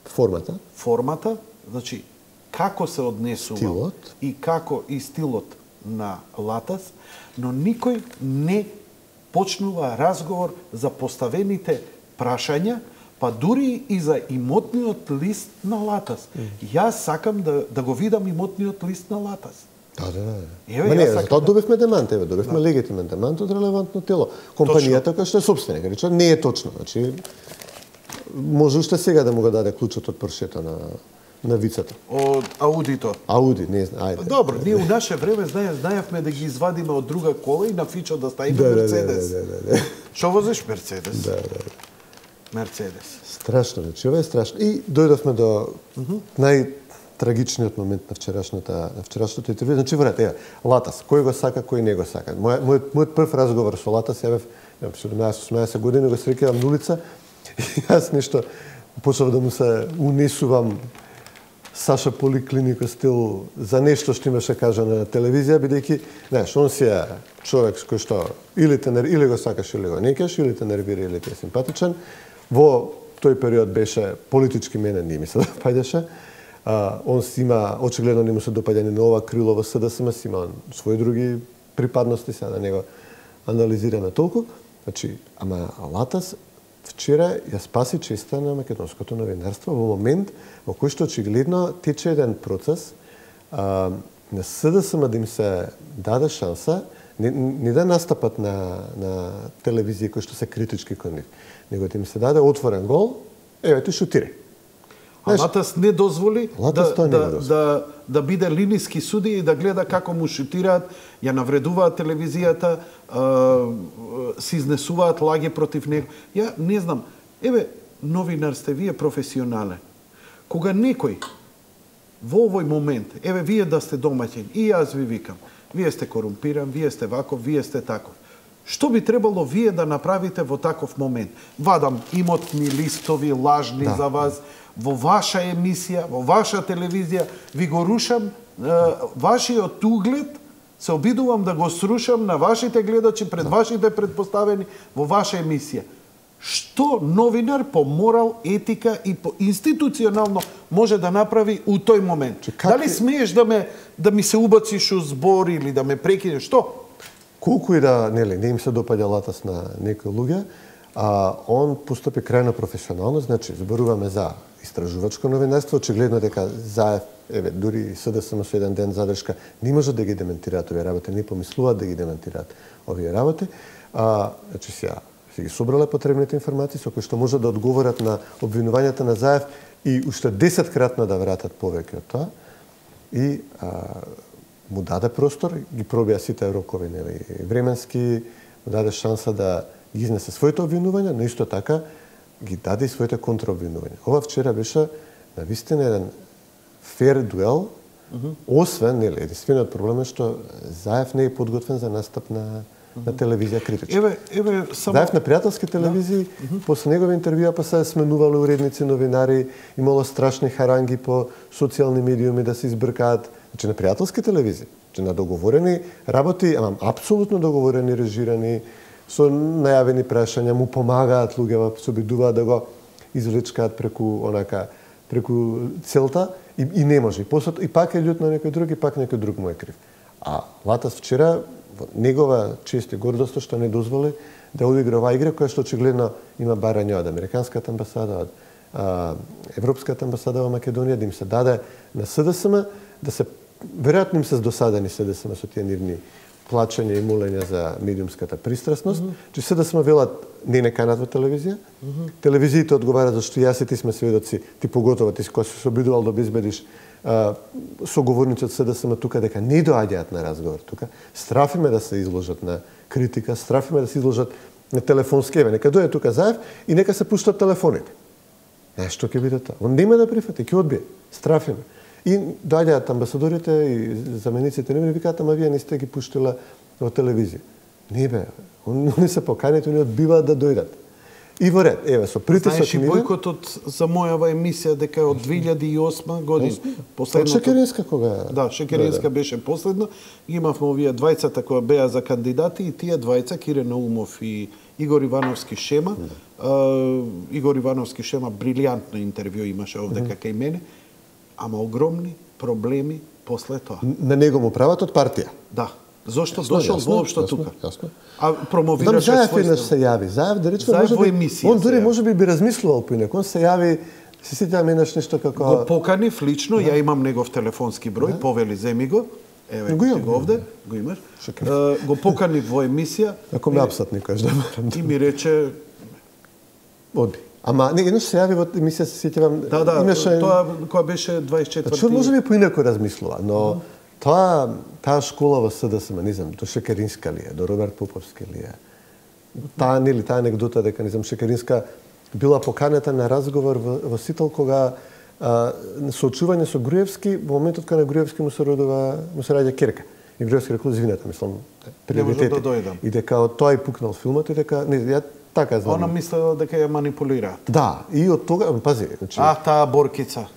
Формата? Формата, значи како се однесува стилот. И како и стилот на Латас, но никој не почнува разговор за поставените прашања, па дури и за имотниот лист на Латас. Mm. Јас сакам да да го видам имотниот лист на Латас. Да, да, да. Еве, Ма не, сакам затоа да... добивме демант, еве, добивме да. легитимен демант од релевантно тело. Компанијата која што е собственик, рече, не е точно. Значи, може уште сега да му го даде клучот од Поршето на на вицата. Од Аудито. Ауди, не знам, ајде. Добро, ние у наше време знае, знаевме да ги извадиме од друга кола и на фичо да ставиме да, Мерцедес. Да, да, да, да. Шо возиш Мерцедес? Да, да. Мерцедес. Страшно, значи, ова е страшно. И дојдовме до uh -huh. најтрагичниот момент на вчерашната на вчерашното интервју. Значи, врат, ева, Латас, кој го сака, кој не го сака. Мојот мојот мојот прв разговор со Латас ја бев седумнаесет години, го среќавам на улица и јас нешто почнав да му се унесувам Саша Поликлинико стил за нешто што имаше кажа на телевизија, бидејќи, знаеш, он си е човек кој што или те или го сакаш или го некаш, или те нервира или ти е симпатичен. Во тој период беше политички мене не ми се допаѓаше. А, он си има, очигледно не му се допаѓа ни на ова крило во СДСМ, си има своји други припадности, сега да не го анализираме толку. Значи, ама Латас вчера ја спаси честа на македонското новинарство во момент во кој што очигледно тече еден процес а, на СДСМ да им се даде шанса не, не да настапат на, на телевизија кои што се критички кон нив, него да им се даде отворен гол, еве ти шутирај. А Латас не дозволи Латас да, не да, дозволи. да, да биде линиски судија и да гледа како му шутираат, ја навредуваат телевизијата, а, се изнесуваат лаги против него. Ја не знам, еве, новинар сте, вие професионален. Кога некој во овој момент, еве, вие да сте домаќин, и јас ви викам, вие сте корумпиран, вие сте ваков, вие сте таков. Што би требало вие да направите во таков момент? Вадам имотни листови, лажни да. за вас, во ваша емисија, во ваша телевизија, ви го рушам, е, вашиот углед, се обидувам да го срушам на вашите гледачи, пред вашите предпоставени, во ваша емисија. Што новинар по морал, етика и по институционално може да направи у тој момент? Как... Дали смееш да ме да ми се убациш у збор или да ме прекинеш? Што? Колку и да, нели, не им се допаѓа Латас на некои луѓе, а он постапи крајно професионално, значи зборуваме за истражувачко новинарство, очигледно дека Заев, еве, дури СДСМ со еден ден задршка, не може да ги дементираат овие работи, не помислуваат да ги дементираат овие работи. А, значи сега си ги собрале потребните информации со кои што може да одговорат на обвинувањата на Заев и уште десеткратно да вратат повеќе од тоа. И а, му даде простор, ги пробија сите рокови, нели, временски, му даде шанса да ги изнесе своите обвинувања, но исто така ги даде и своите контраобвинувања. Ова вчера беше навистина еден фер дуел, uh -huh. освен, нели, единствениот проблем е што Заев не е подготвен за настап на, uh -huh. на телевизија критичка. Еве, еве, само... Заев на пријателски телевизии, да. uh -huh. после негови интервјуа па се сменувале уредници, новинари, имало страшни харанги по социјални медиуми да се избркаат. Значи на пријателски телевизии, значи на договорени работи, ама апсолутно договорени, режирани, со најавени прашања, му помагаат луѓе, се обидуваат да го извлечкаат преку онака преку целта и, и не може. И, после, и пак е љут на некој друг, и пак некој друг му е крив. А Латас вчера, негова чест и гордост што не дозволи да одигра оваа игра, која што очигледно има барања од Американската амбасада, од а, Европската амбасада во Македонија, да им се даде на СДСМ, да се веројатно им се досадени СДСМ со тие нивни плачања и молења за медиумската пристрасност, mm -hmm. че СДСМ велат не не канат во телевизија. Mm -hmm. Телевизиите одговарат зашто јас и ти сме сведоци, ти поготово ти кој се обидувал да обезбедиш соговорници од СДСМ тука дека не доаѓаат на разговор тука. Страфиме да се изложат на критика, страфиме да се изложат на телефонски, еве нека дојде тука Заев и нека се пуштат телефоните. Е, што ќе биде тоа? Он нема да прифати, ќе одбие. Страфиме. И доаѓаат амбасадорите и замениците нивни викаат, ама вие не сте ги пуштила во телевизија. Не бе, они се поканети, они одбиваат да дојдат. И во ред, еве, со притисок Знаеш и бојкотот за мојава емисија дека од две илјади и осма година. Последното... Шекеринска кога... Да, Шекеринска да, да. беше последна. Имавме овие двајцата кои беа за кандидати и тие двајца, Кире Наумов и Игор Ивановски Шема. Да. Uh, Игор Ивановски Шема брилијантно интервју имаше овде mm -hmm. кај мене, ама огромни проблеми после тоа. На него му прават од партија? Да. Зошто дошол воопшто тука? Јасно. А промовираше свој... Заев еднаш се јави. Заев, да речеме, може би... Он дури може би би размислувал поинак. Он се јави, се сетам еднаш нешто како... Го поканив лично, ја имам негов телефонски број, да. Повели, земи го. Еве, го, го овде, го имаш. Uh, го поканив во емисија. Ако ме апсат никош да морам. И ми рече... Оди. Ама не еднаш се јави во емисија, се сетам... Да, да, имаше... тоа која беше дваесет и четврти... Значи, може би поинако размислува, но... Mm. Тоа, таа школа во СДСМ, не знам, до Шекеринска ли е, до Роберт Поповски ли е. Таа, нели, таа анегдота дека, не знам, Шекеринска била поканета на разговор во, во Сител кога а, соочување со Груевски, во моментот кога на Груевски му се родува, му се раѓа керка. И Груевски рекол, извинете, мислам, приоритети. Да дојдам. И дека од тоа и пукнал филмот и дека, не, ја така знам. Она мислела дека ја манипулираат. Да, и од тога, пази, значи... А, таа боркица.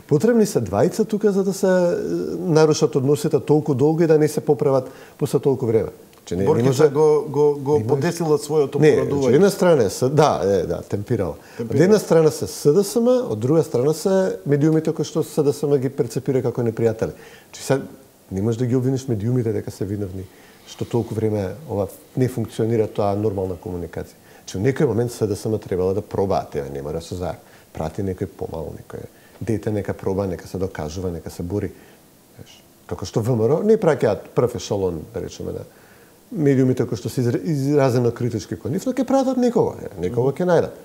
Потребни се двајца тука за да се нарушат односите толку долго и да не се поправат после толку време. Че не, Боркица не може... го, го, го не подесила својото порадување. Не, една страна е, да, е, да, темпирала. темпирала. Од една страна се СДСМ, од друга страна се медиумите кои што СДСМ ги перцепира како непријатели. Че се не можеш да ги обвиниш медиумите дека се виновни што толку време ова не функционира тоа нормална комуникација. Че во некој момент СДСМ требало да пробаат, ева нема да се Заев. Прати некој помал, некој дете нека проба, нека се докажува, нека се бори. Како што ВМРО не праќаат прв ешалон, да речеме, на медиумите кои што се изразено критички кон нив, но ќе пратат некого, некого ќе најдат.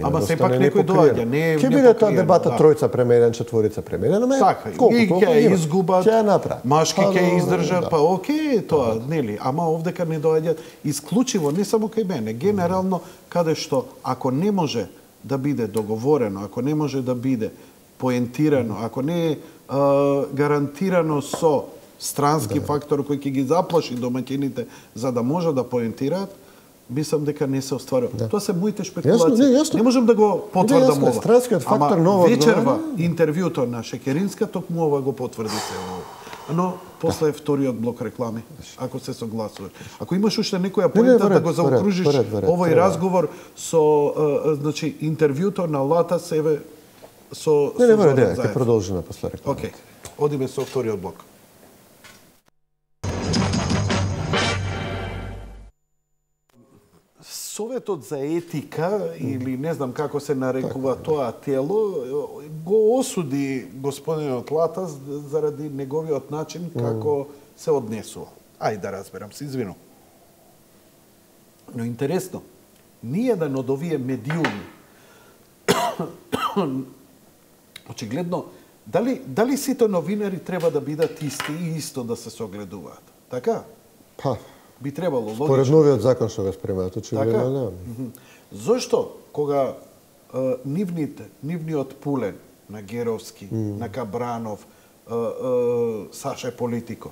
Ама сепак некој доаѓа, не е ќе биде тоа дебата да. Тројца премерен, четворица премерен, ама така, колку и ќе изгубат, ќе направи. Машки ќе издржат, да. Па окей, тоа, да. Нели, ама овдека не доаѓаат исклучиво, не само кај мене, генерално каде што ако не може да биде договорено, ако не може да биде поентирано, ако не е а, гарантирано со странски да. Фактор кој ќе ги заплаши домаќините за да може да поентираат, мислам дека не се остварува. Да. Тоа се моите спекулации. Јасно, не, јасно. Не можам да го потврдам ова. Странскиот фактор ново вечерва интервјуто на Шекеринска токму ова го потврди се ова. Но после да. Вториот блок реклами, ако се согласуваш. Ако имаш уште некоја поента да го заокружиш овој разговор со а, значи интервјуто на Лата Севе со Не, не, не, не, ќе продолжиме после реклама. Океј. Одиме со вториот блок. Советот за етика, или не знам како се нарекува тоа тело, го осуди господинот Латас заради неговиот начин како се однесува. Ајде да разберам, се извинувам. Но интересно, ниеден од овие медиуми очигледно, дали, дали сите новинари треба да бидат исти и исто да се согледуваат? Така? Па, би требало логично. Според новиот закон што го спремаат, очигледно така? Да. Зошто кога е, нивните, нивниот пулен на Геровски, mm. на Кабранов, е, е, Саше Политико,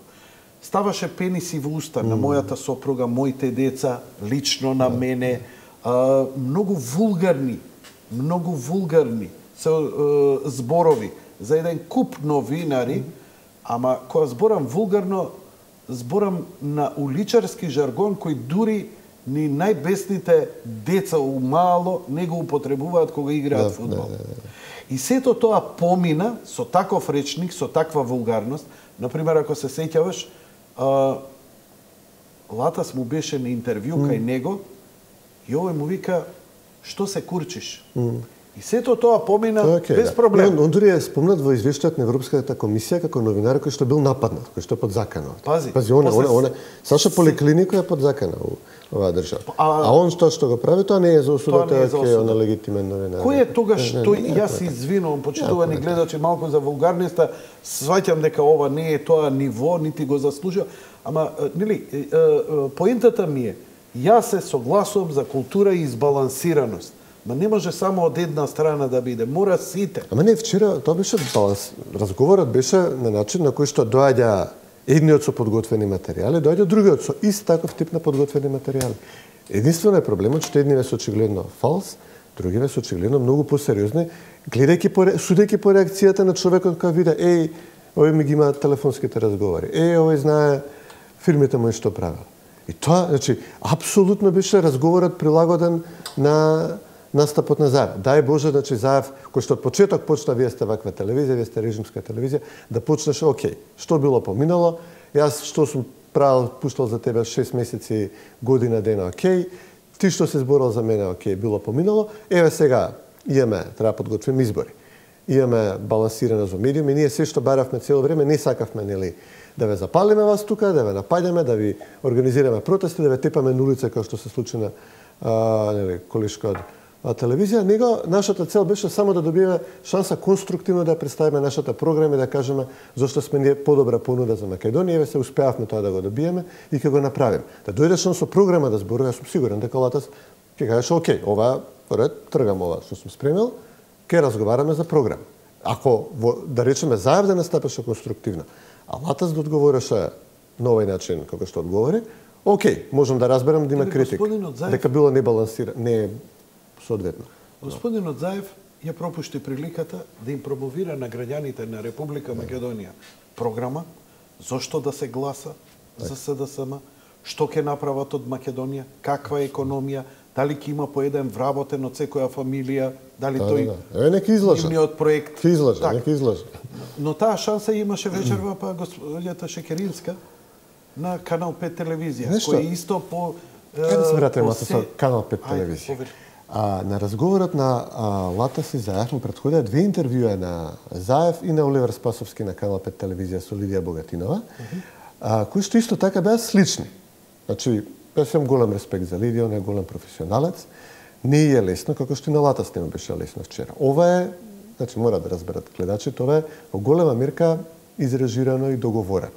ставаше пениси во уста mm. на мојата сопруга, моите деца, лично на mm. мене, е, многу вулгарни, многу вулгарни се е, зборови за еден куп новинари, mm. ама кога зборам вулгарно, зборам на уличарски жаргон кој дури ни најбесните деца у мало не го употребуваат кога играат да, фудбал. Да, да, да. И сето тоа помина со таков речник, со таква вулгарност. Например, ако се сеќаваш, а, Латас му беше на интервју mm. кај него и овој му вика, што се курчиш? Mm. И сето тоа помина Тоа okay, без да. проблем. Он, он дури е спомнат во извештајот на Европската комисија како новинар кој што бил нападнат, кој што е под закана. Пази, Пази, он, после... он, он, Саша Поликлинико е под закана у оваа држава. А, а он што што го прави, тоа не е за осуда, тоа тоа е на легитимен новинар. Кој е тогаш не, тој, не, не, јас се извинувам, почитувани гледачи, малку за вулгарноста, сваќам дека ова не е тоа ниво, нити го заслужува, ама, нели, поентата ми е, јас се согласувам за култура и избалансираност. Ма не може само од една страна да биде, мора сите. Ама не, вчера тоа беше баланс. Разговорот беше на начин на кој што доаѓа едниот со подготвени материјали, доаѓа другиот со ист таков тип на подготвени материјали. Единствено е проблемот што едниве се очигледно фалс, другиве се очигледно многу посериозни, гледајќи по судејќи по реакцијата на човекот кој види, еј, овој ми ги има телефонските разговори. Еј, овој знае фирмите мои што правел. И тоа, значи, апсолутно беше разговорот прилагоден на настапот на Заев. Дај Боже, значи Заев, кој што од почеток почна, вие сте ваква телевизија, вие сте режимска телевизија, да почнеш, окей, што било поминало, јас што сум правил, пуштал за тебе шест месеци, година дена, окей, ти што се зборал за мене, окей, било поминало, еве сега имаме, треба подготвим избори. Имаме балансирано за медиуми, ние се што баравме цело време, не сакавме, нели, да ве запалиме вас тука, да ве напаѓаме, да ви организираме протести, да ве тепаме на улица, како што се случи на а, нели, колишка од телевизија, него нашата цел беше само да добиеме шанса конструктивно да представиме нашата програма и да кажеме зошто сме ние подобра понуда за Македонија, еве се успеавме тоа да го добиеме и ќе го направиме. Да дојдеш со програма да зборува, јас сум сигурен дека Латас ќе кажеш окей, ова поред тргам ова што сум спремил, ќе разговараме за програма. Ако во, да речеме Заев да настапеше конструктивно, а Латас да одговореше на овој начин како што одговори, окей, можам да разберам да има критика, дека било небалансирано, не соодветно. Господинот Заев ја пропушти приликата да им промовира на граѓаните на Република Македонија програма, зошто да се гласа за СДСМ, што ќе направат од Македонија, каква е економија, дали ќе има по еден вработен од секоја фамилија, дали да, тој да, да. Е, нека излажа. Нивниот проект. Ке излажа, нека излажа. Но таа шанса имаше вечерва па господјата Шекеринска на Канал пет телевизија, кој исто по Кај да се вратиме со Канал пет телевизија. А, на разговорот на а, Латас и Заев му предходеа две интервјуа на Заев и на Оливер Спасовски на Канал пет телевизија со Лидија Богатинова, uh -huh. а, кои што исто така беа слични. Значи, јас имам голем респект за Лидија, он е голем професионалец. Не е лесно, како што и на Латас не му беше лесно вчера. Ова е, значи мора да разберат гледачите, ова е во голема мерка изрежирано и договорено.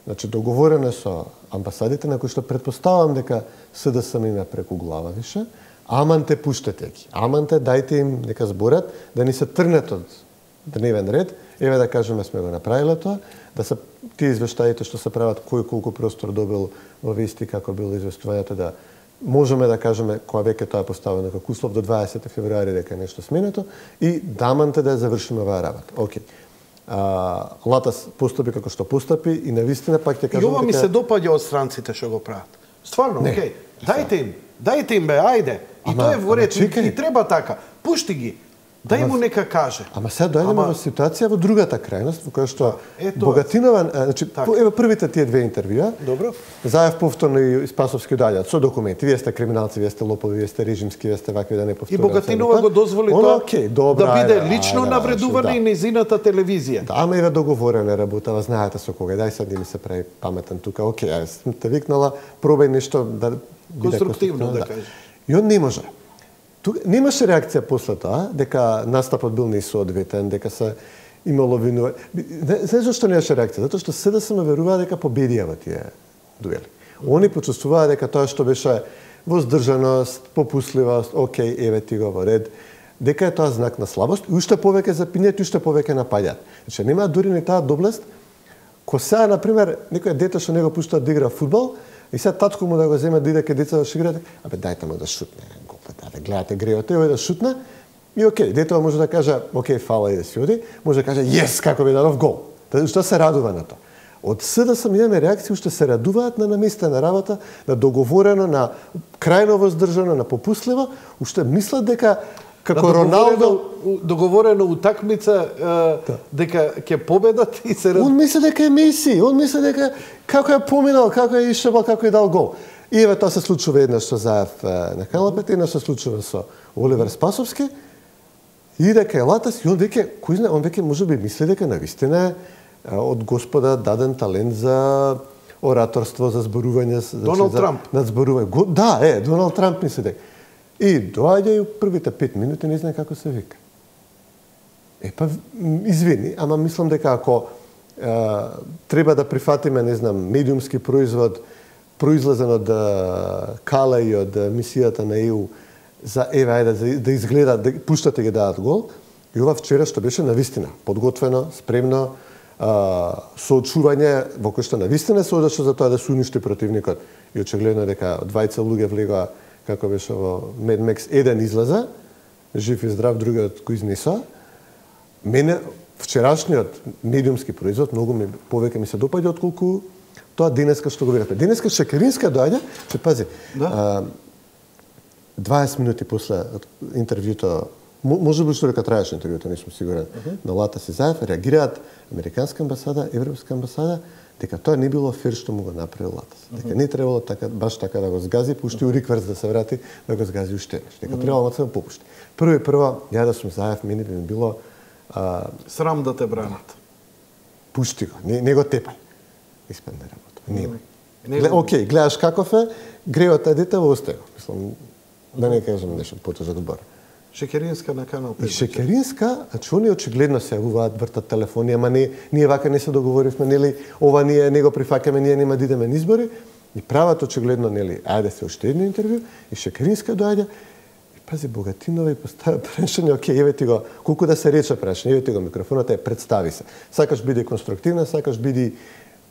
Значи, договорено е со амбасадите на кои што предпоставам дека СДСМ има преку глава више, аман те пуштете ги. Аман те дајте им нека зборат, да ни се трнат од дневен ред. Еве да кажеме сме го направиле тоа, да се тие извештаите што се прават кој колку простор добил во вести, како било известувањето, да можеме да кажеме кога веќе тоа е поставено како услов до дваесети февруари дека е нешто сменето и даманте да ја завршиме оваа работа. Океј. А, Латас постапи како што постапи и навистина пак ќе кажам дека... И ова ми се допаѓа од странците што го прават. Стварно, окей. Дајте им, дајте им бе, ајде. И тоа е во ред, и треба така. Пушти ги. Дај му нека каже. Ама сега дојдеме ама... во ситуација во другата крајност, во која што Богатинова, значи, еве првите тие две интервјуа. Добро. Заев повторно и Спасовски доаѓаат со документи. Вие сте криминалци, вие сте лопови, вие сте режимски, вие сте вакви, да не повторувам. И Богатинова го дозволи тоа okay, добра, да биде ајде, лично ајде, навредувана да. и незината телевизија. Да, ама еве договорена работа, знаете со кога. Дај сега да ми се прави паметен тука. Океј, јас сум те викнала, пробај нешто да конструктивно да кажеш. И он не може. Тука немаше реакција после тоа, дека настапот бил несоодветен, дека се имало винува. Знаеш зашто немаше реакција? Затоа што СДСМ веруваа дека победија во тие дуели. Они почувствуваа дека тоа што беше воздржаност, попусливост, окей, еве ти го во ред, дека е тоа знак на слабост и уште повеќе запинјат и уште повеќе напаѓаат. Значи нема дури ни таа доблест. Ко сега, например, некој дете што не го пуштаат да игра фудбал, и сега татко му да го земе да иде кај деца да шиграат, абе дајте му да шутне, голпа, да гледате греот, тој да шутне, и окей, детето може да каже, окей, фала и да си оди, може да каже, јес, како би дадов гол. Уште се радува на тоа. Од СДСМ имаме реакции, уште се радуваат на наместена работа, на договорено, на крајно воздржано, на попусливо, уште мислат дека како да, Роналдо договорено утакмица да. Дека ќе победат и се... Он мисли дека е Меси, он мисли дека како е поминал, како е ишебал, како е дал гол. И еве тоа се случува еднаш со Заев на Канал пет, еднаш се случува со Оливер Спасовски. И дека е Латас, и он веќе, кој знае, он веќе можеби мисли дека навистина е од Господа даден талент за ораторство, за зборување, Доналд Трамп. На зборување. Да, е, Доналд Трамп мисли дека. И доаѓа и првите пет минути не знае како се вика. Е, па, извини, ама мислам дека ако е, треба да прифатиме, не знам, медиумски производ, произлезен од Кала и од мисијата на ЕУ, за еве, ајде, да, да изгледа, да пуштате ги дадат гол, и ова вчера што беше навистина, подготвено, спремно, а, со очување, во кој што навистина се одеше за тоа да се уништи противникот. И очигледно дека двајца луѓе влегоа, како беше во Mad Max, еден излеза, жив и здрав, другиот кој изнесоа. Мене вчерашниот медиумски производ многу ми повеќе ми се допаѓа отколку тоа денеска што го видовме. Денеска Шекеринска доаѓа, че пази, да? а, дваесет минути после интервјуто, може би што дека траеше интервјуто, не сум сигурен, uh -huh. на Латас и Заев, реагираат Американска амбасада, Европска амбасада, дека тоа не било фер што му го направил Латас. Uh -huh. Дека не требало така, баш така да го згази, пушти у рикверс да се врати, да го згази уште еднаш. Дека uh -huh. требало да попушти. Прво и прво, ја да сум Заев, мене би ми било а, срам да те бранат. Пушти го, не, не го тепај. Испадне работа. Немај. Гле, окей, гледаш каков е, греот е дете, во осте го. Мислам, да не кажам нешто потежок збор. Шекеринска на канал пет. И Шекеринска, значи они очигледно се јавуваат, вртат телефони, ама не, ние вака не се договоривме, нели, ова ние не го прифаќаме, ние нема да идеме на избори. И прават очигледно, нели, ајде се уште едно интервју, и Шекеринска доаѓа, и пази Богатинова и поставя прашање, окей, еве ти го, колку да се рече прашање, еве ти го микрофонот, е, представи се. Сакаш биди конструктивна, сакаш биди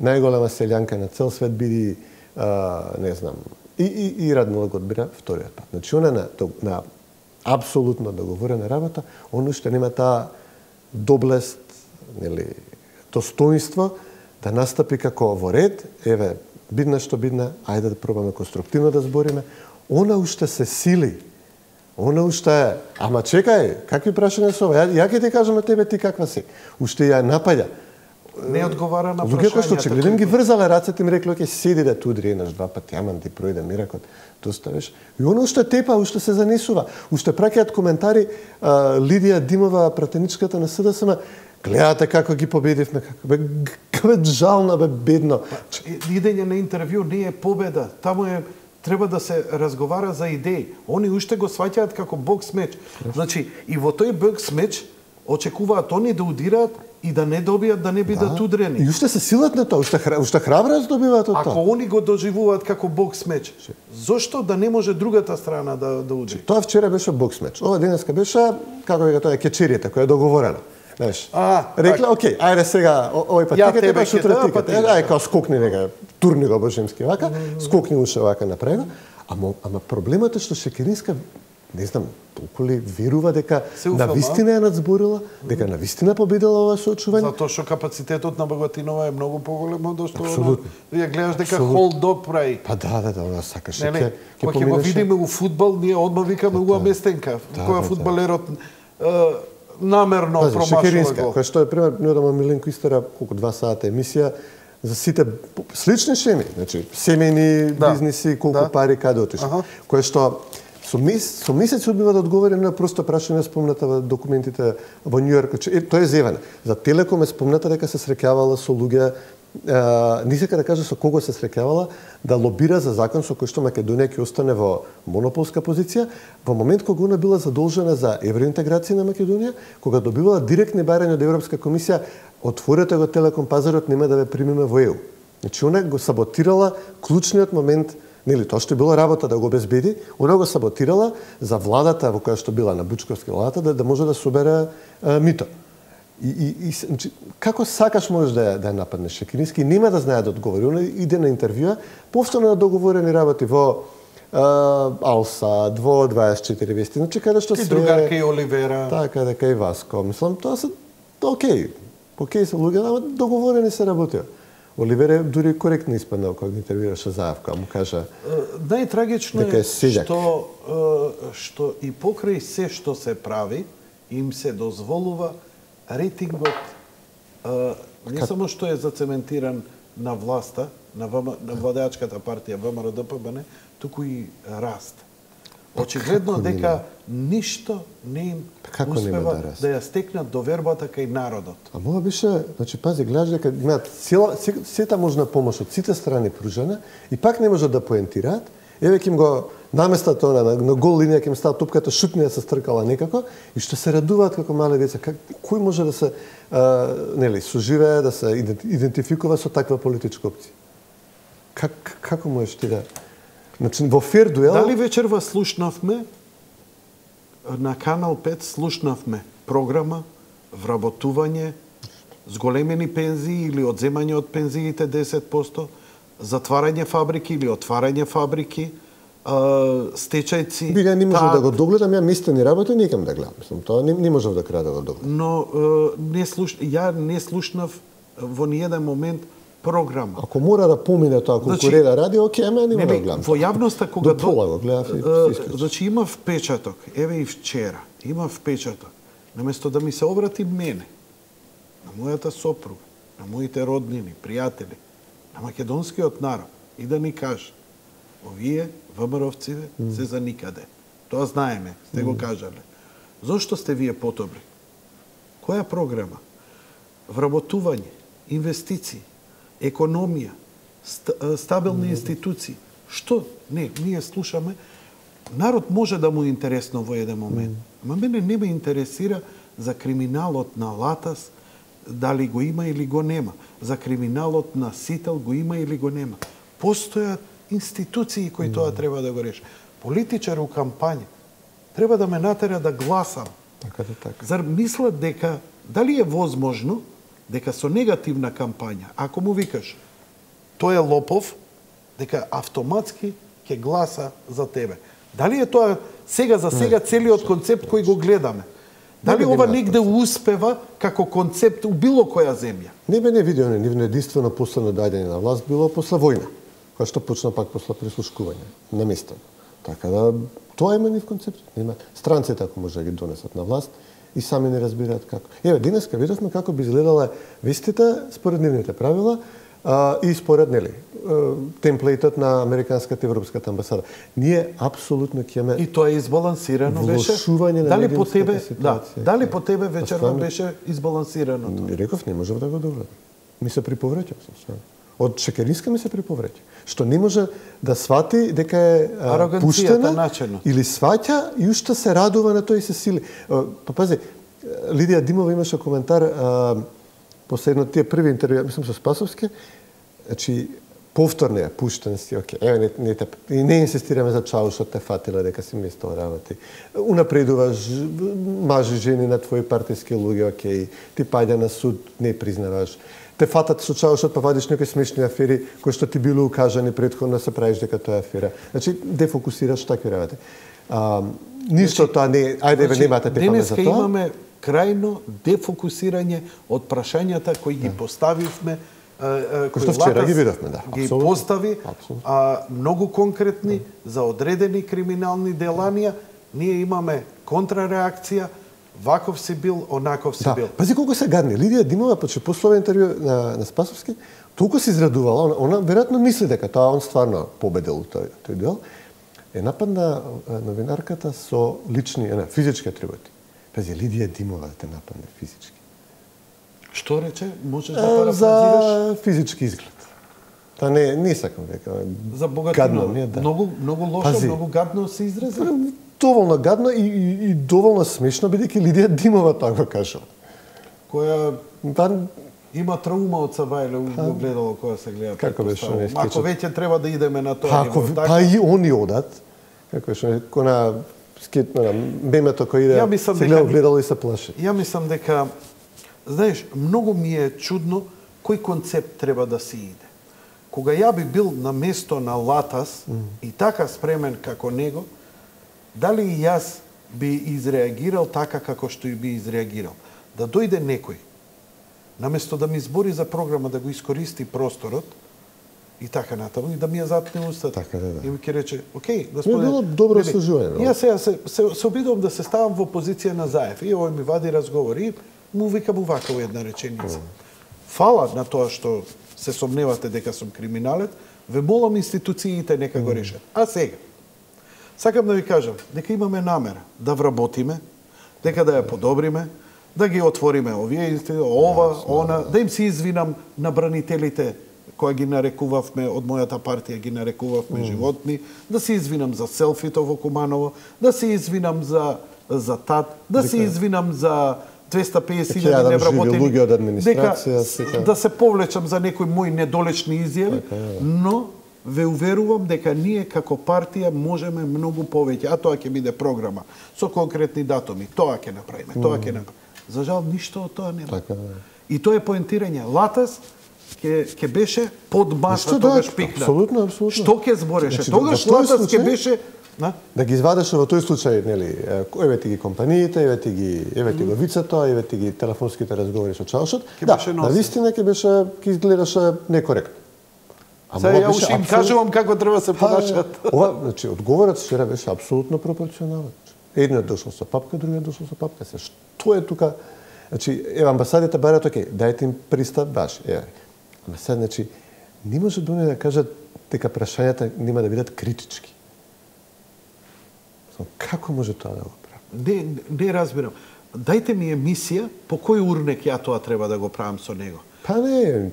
најголема селјанка на цел свет, биди, а, не знам, и, и, и Радмила го одбира вториот пат. Значи, она на, на апсолутно договорена работа, он уште нема таа доблест, нели, достоинство да настапи како во ред, еве, бидна што бидна, ајде да пробаме конструктивно да збориме. Она уште се сили. Она уште е, ама чекај, какви прашања се ова? Ја, ја ќе ти кажам на тебе ти каква си. Уште ја напаѓа. Не одговара на прашањата. Луѓето што че гледам ги врзале рацете, ми рекле, ќе седи да тудри еднаш два пати, аман ти пројде миракот, доставиш. И оно уште тепа, уште се занесува. Уште праќаат коментари а, Лидија Димова, пратеничката на СДСМ, гледате како ги победивме, како бе, бе жално, бе бедно. Идење на интервју не е победа, таму е треба да се разговара за идеи. Они уште го сваќаат како бокс меч. Значи, и во тој бокс меч очекуваат они да удираат и да не добијат, да не бидат да. удрени. И уште се силат на тоа, уште, хра, уште храброст добиваат од тоа. Ако они го доживуваат како бокс меч, зошто да не може другата страна да, да удри? Тоа вчера беше бокс меч. Ова денеска беше, како вика тоа, кечеријата, која е договорена. Знаеш, рекле, окей, ајде сега, овој пат тикате, тебе шутра тикате. Ајде, као скокни нека, турни го божемски вака, скокни уште вака напрего. Ама, ама проблемот е што Шекеринска, не знам, толку ли верува дека навистина е надзборила, дека навистина победила ова соочување? Затоа што капацитетот на Богатинова е многу поголем од што она. Ја гледаш дека холд-дог прави. Па да, да, да, она сакаше ќе ќе ќе го видиме у фудбал, ние одма викаме уа местенка, која фудбалерот намерно промашува Шекеринска, го. која што е пример, ние одама Миленко истора колку два сата емисија за сите слични шеми, значи семејни да. бизниси, колку да. пари каде отишли. Кој што со, мес, со месеци одбива да одговори на просто прашање спомната во документите во Њу Јорк. Е, тоа е зеване. За Телеком е спомната дека се среќавала со луѓе, е, не сека да каже со кого се среќавала, да лобира за закон со кој што Македонија ќе остане во монополска позиција, во момент кога она била задолжена за евроинтеграција на Македонија, кога добивала директни барања од Европска комисија, отворете го Телеком пазарот, нема да ве примиме во ЕУ. Значи, она го саботирала клучниот момент. Нели, тоа што било работа да го обезбеди, она го саботирала за владата во која што била на Бучковски владата да, да може да собере а, мито. И, и, и значи, како сакаш можеш да ја, да ја нападнеш Шекерински, нема да знае да одговори. Она иде на интервјуа, повторно на договорени работи во а, Алсад, во дваесет и четири вести, значи каде што се... И другарка и Оливера. Така, дека и Васко. Мислам, тоа се окей. Окей се луѓе, ама договорени се работи. Оливер е дури коректно испаднал кога ги интервјуираше Заевка, му кажа... Најтрагично е што, што и покрај се што се прави, им се дозволува рейтингот не само што е зацементиран на власта, на, на владеачката партија ВМРО ДПМН, туку и раст. Очигледно дека ништо не им Како успева да, да ја стекнат довербата кај народот. А мога беше, значи пази, гледаш дека имаат цела сета можна помош од сите страни пружена и пак не можат да поентираат. Еве ќе им го наместат она на, на гол линија, ќе им става топката, шутнија се стркала некако и што се радуваат како мале деца. Как кој може да се а, нели соживее, да се идентификува со таква политичка опција? Как како можеш ти да Значи, во фер дуел... Дали вечерва слушнавме, на Канал пет слушнавме програма, вработување, зголемени пензии или одземање од пензиите десет проценти, затварање фабрики или отварање фабрики, стечајци... Би, ја не можев да го догледам, ја мистени работи не икам да гледам. Мислам, тоа не, не можев да крај да го догледам. Но не слуш... ја не слушнав во ниеден момент програма. Ако мора да помине тоа конкурира значи, радио, оке, ама нема да гледам. Во јавноста кога до пола го гледав и се исклучи. Значи има впечаток, еве и вчера, има впечаток. Наместо да ми се обрати мене, на мојата сопруга, на моите роднини, пријатели, на македонскиот народ и да ни каже: овие ВМРО-вциве mm. се за никаде. Тоа знаеме, сте mm. го кажале. Зошто сте вие подобри? Која програма? Вработување, инвестиции, економија, стабилни mm. институции. Што? Не, ние слушаме. Народ може да му е интересно во еден момент. Mm. Ма мене не ме интересира за криминалот на Латас, дали го има или го нема. За криминалот на Сител го има или го нема. Постојат институции кои mm. тоа треба да го реши. Политичар у кампања треба да ме натера да гласам. Така да така. Зар мислат дека дали е возможно дека со негативна кампања, ако му викаш тој е лопов, дека автоматски ќе гласа за тебе. Дали е тоа сега за сега целиот концепт кој го гледаме? Дали ова негде успева како концепт у било која земја? Не бе не видео, не нивно единствено последно доаѓање на власт било после војна, која што почна пак после прислушкување на место. Така да тоа има нив концепт, нема странците ако може да ги донесат на власт и сами не разбираат како. Еве денеска видовме како би изгледала вестите според нивните правила а, и според нели темплейтот на американската европската амбасада. Ние апсолутно ќе имаме и тоа е избалансирано беше. Дали по тебе, да, дали по тебе вечерва беше избалансирано тоа? Реков не можев да го догледам. Ми се приповреќам со од Шекеринска ми се приповреќа, што не може да свати дека е а, пуштена начено. Или сваќа и уште се радува на тоа и се сили. Па пази, Лидија Димова имаше коментар а, последно тие први интервју, мислам со Спасовски, значи повторно ја пуштен си, оке, еве не, не, те, и не инсистираме за чаушот те фатила дека си место работи. Унапредуваш мажи, жени на твои партиски луѓе, оке, ти паѓа на суд, не признаваш. Те фатат со чаушот, па вадиш некои смешни афери кои што ти било укажани претходно, се правиш дека тоа е афера. Значи, дефокусираш такви работи. А, ништо значи, тоа не, ајде значи, немате тепаме за тоа. Денеска имаме крајно дефокусирање од прашањата кои ги поставивме, кои што вчера ги видовме, да. Ги постави, а, многу конкретни за одредени криминални деланија. Ние имаме контрареакција. Ваков си бил, онаков си да. бил. Пази колку се гадни. Лидија Димова, поче после ова интервју на, на Спасовски, толку се израдувала, она, она веројатно мисли дека тоа он стварно победил тој, тој дел, е нападна новинарката со лични, не, физички атрибути. Пази, Лидија Димова те нападне физички. Што рече? Можеш да парафразираш? За физички изглед. Та не, не сакам дека. За богатино. Гадно, да. Многу, многу лошо, Пази, многу гадно се изрази. Доволно гадно и, и, и доволно смешно, бидејќи Лидија Димова тоа го кажала. Која па, има траума од Савајле, го гледало која се гледа. Како беше не Ако веќе треба да идеме на тоа. Ако, па, па и они одат. Како беше кона скет на мемето кој иде, се гледа гледало и се плаши. Ја мислам дека, знаеш, многу ми е чудно кој концепт треба да се иде. Кога ја би бил на место на Латас mm. и така спремен како него, дали и јас би изреагирал така како што и би изреагирал? Да дојде некој, наместо да ми збори за програма, да го искористи просторот и така натаму, и да ми ја затне устата. Така, да, да. И ми ќе рече, окей, господине... било добро служување. Јас сега се, се, се обидувам да се ставам во позиција на Заев. И овој ми вади разговор и му викам увака во една реченица. Mm. Фала на тоа што се сомневате дека сум криминалец, ве молам институциите нека го решат. А сега, Сакам да ви кажам дека имаме намера да вработиме, дека да ја подобриме, да ги отвориме овие институции, ова, она, да им се извинам на бранителите кои ги нарекувавме од мојата партија, ги нарекувавме животни, да се извинам за селфито во Куманово, да се извинам за за тат, да се извинам за двеста песет илјади невработени, дека да се повлечам за некои мои недолечни изјави, но ве уверувам дека ние како партија можеме многу повеќе, а тоа ќе биде програма со конкретни датуми, тоа ќе направиме, тоа ќе направиме. За жал ништо од тоа нема. И тоа е поентирање. Латас ќе ќе беше под маса тогаш пикна. Апсолутно, апсолутно. Што ќе збореше? Тогаш Латас ќе беше На? Да ги извадеше во тој случај, нели, еве ти ги компаниите, еве ти ги, еве ти го вицето, еве ти ги телефонските разговори со чалшот. Да, навистина ќе беше, ќе изгледаше некоректно. Сега ја уште им кажувам како треба се понашат. Ова, значи, одговорот вчера беше апсолутно пропорционален. Едниот дошол со папка, другиот дошол со папка. Се што е тука? Значи, еве амбасадите бараат, окей, дајте им пристап баш, еве. Ама сега, значи, не може да да кажат дека прашањата нема да бидат критички. Како може тоа да го прави? Не, не разбирам. Дајте ми емисија по кој урнек ја тоа треба да го правам со него. Па не,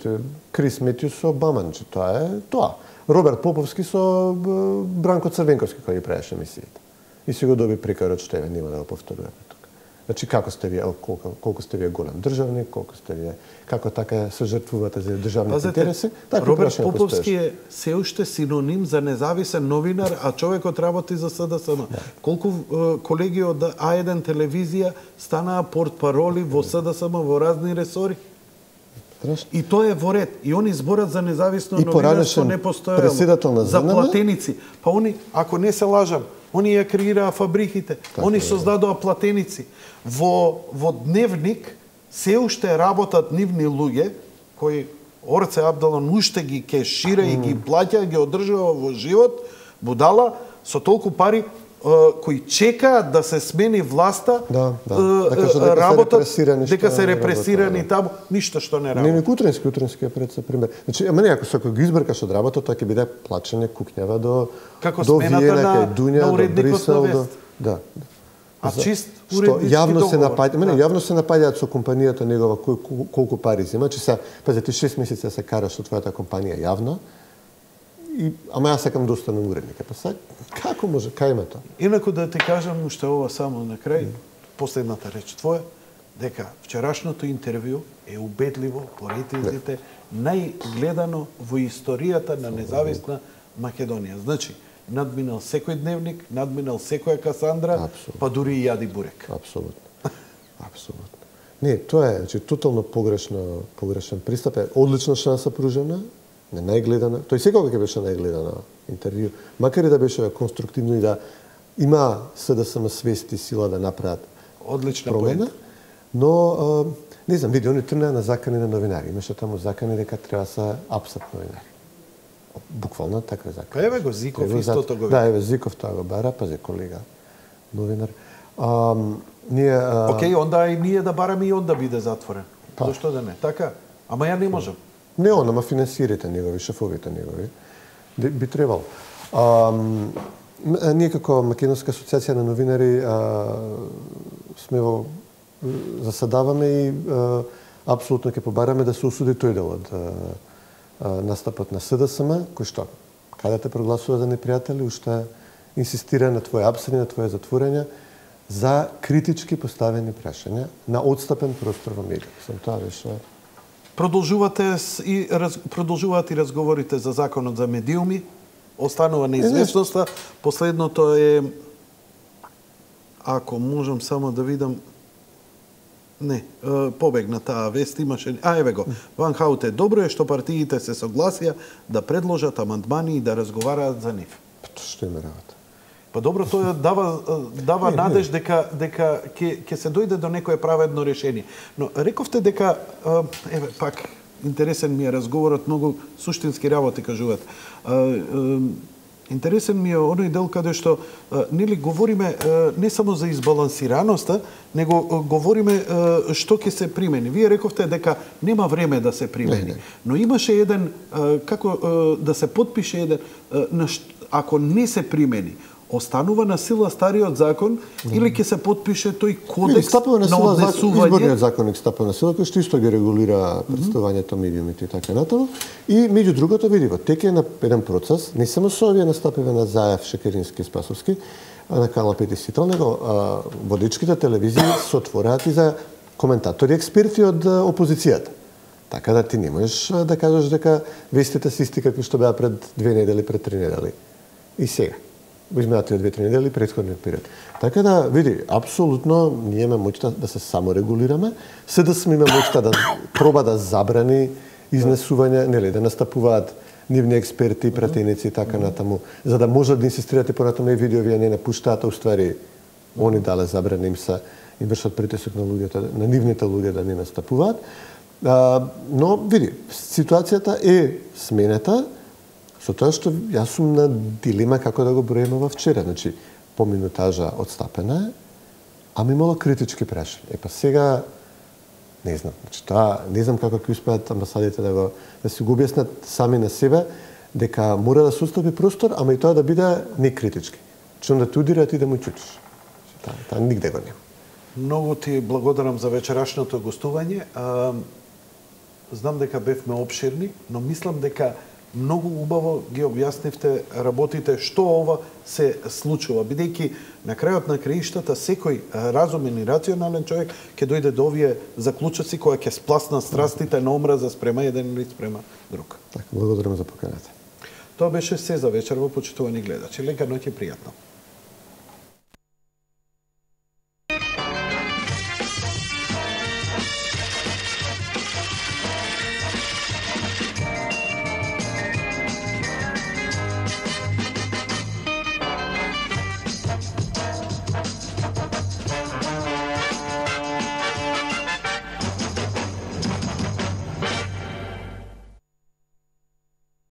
Крис Метјус со Обама, че тоа е тоа. Роберт Поповски со Бранко Црвенковски кој ги правеше емисиите. И си го доби прикарот што еве нема да го повторуваме тука. Значи како сте вие, колку, колку сте вие голем државник, колку сте вие, како така се жртвувате за државните интереси? Така Роберт Поповски е се уште синоним за независен новинар, а човекот работи за СДСМ. Да. Колку е, колеги од А еден телевизија станаа портпароли во СДСМ во разни ресори? Страшно. И тоа е во ред. И они зборат за независно новинарство не постоело. За платеници. Па они, ако не се лажам, они ја креираа фабриките. Так, они создадоа платеници. Во, во Дневник се уште работат нивни луѓе, кои Орце Абдалон уште ги кешира и ги плаќа, ги одржува во живот, будала, со толку пари, кои чекаат да се смени власта, да, да. Дека, дека работат, се дека се репресирани таму, ништо што не работат. Не, не, Кутрински, Кутрински е пред се пример. Значи, ама не, ако се го избркаш од работа, тоа ќе биде плачење кукњава до како до Виена, на, кај Дуња, на до Брисел, до... Да. А За, чист уреднички јавно договор. се напаѓа, мене да. јавно се напаѓаат со компанијата негова кој, колку пари зема, че се пази ти шест месеци се караш со твојата компанија јавно. И, ама јас сакам да останам уредник. Па сега, како може, кај има тоа? Инаку да ти кажам уште ова само на крај, последната реч твоја, дека вчерашното интервју е убедливо по рейтингите најгледано во историјата на независна Македонија. Значи, надминал секој Дневник, надминал секоја Касандра, Абсолютно. Па дури и Јади Бурек. Апсолутно. Апсолутно. Не, тоа е, значи, тотално погрешно, погрешен пристап. Е одлична шанса пружена, не најгледана. Тој секогаш ќе беше најгледана интервју, макар и да беше конструктивно и да има СДСМ свест и сила да направат одлична промена. поента. Но а, не знам, види, они тргнаа на закани на новинари. Имаше таму закани дека треба да се апсат новинари. Буквално така закани. Па еве го Зиков истото го. Да, еве Зиков тоа го бара, пази колега новинар. А, ние а... Океј, онда и ние да бараме и он да биде затворен. Па. Зошто да не? Така? Ама ја не можам. Не он, ама финансирите негови, шефовите негови. Би требало. А, ние како Македонска асоциација на новинари а, сме во заседаваме и а, апсолутно ќе побараме да се осуди тој дел од а, а, настапот на СДСМ, кој што каде те прогласува за непријатели, уште инсистира на твое апсање, на твое затворање за критички поставени прашања на одстапен простор во медиите. Сам тоа беше. Продолжувате и раз, продолжуваат и разговорите за законот за медиуми, останува неизвестноста. Последното е, ако можам само да видам, не, побегна таа вест, имаше... А, еве го, Ван Хауте, добро е што партиите се согласија да предложат амандмани и да разговараат за нив. Што има работа? Па добро, тоа дава дава не, надеж не. дека дека ќе ќе се дојде до некое праведно решение. Но рековте дека еве пак интересен ми е разговорот, многу суштински работи кажуваат. Интересен ми е оној дел каде што нели говориме не само за избалансираноста, него говориме што ќе се примени. Вие рековте дека нема време да се примени, не, не. Но имаше еден како да се потпише еден ако не се примени останува на сила стариот закон или ќе се потпише тој кодекс стапува на на сила однесување? Изборниот законник стапува на сила, кој што исто ги регулира представувањето медиумите и така натаму. И меѓу другото види во теке на еден процес, не само со овие настапиве на Заев, Шекерински и Спасовски, а на Канал пет и Сител, него а, водичките телевизии се отвораат и за коментатори, експерти од опозицијата. Така да ти не можеш да кажеш дека вестите се исти какви што беа пред две недели, пред три недели. И сега. Во изминатите две-три недели, претходниот период. Така да, види, апсолутно ние имаме моќта да се саморегулираме, се да сме имаме моќта да проба да забрани изнесување, нели, да настапуваат нивни експерти, пратеници и така натаму, за да можат да инсистирате понатаму и видео вие не напуштаат, а уствари они дале забрани им се им вршат притисок на луѓето, на нивните луѓе да не настапуваат. А, но види, ситуацијата е сменета, со тоа што јас сум на дилема како да го броиме во вчера. Значи, по минутажа одстапена е, ама имало критички прашања. Епа сега, не знам, значи тоа, не знам како ќе успеат амбасадите да го да си го објаснат сами на себе, дека мора да се отстапи простор, ама и тоа да биде не критички. Че onda те удира, ти да му чутиш. Тоа, тоа нигде го нема. Многу ти благодарам за вечерашното гостување. А, знам дека бевме обширни, но мислам дека многу убаво ги објаснивте работите што ова се случува, бидејќи на крајот на краиштата секој разумен и рационален човек ќе дојде до овие заклучоци кои ќе спласнат страстите на омраза спрема еден или спрема друг. Така, благодарам за поканата. Тоа беше се за вечер во почитувани гледачи. Лека ноќ и пријатно.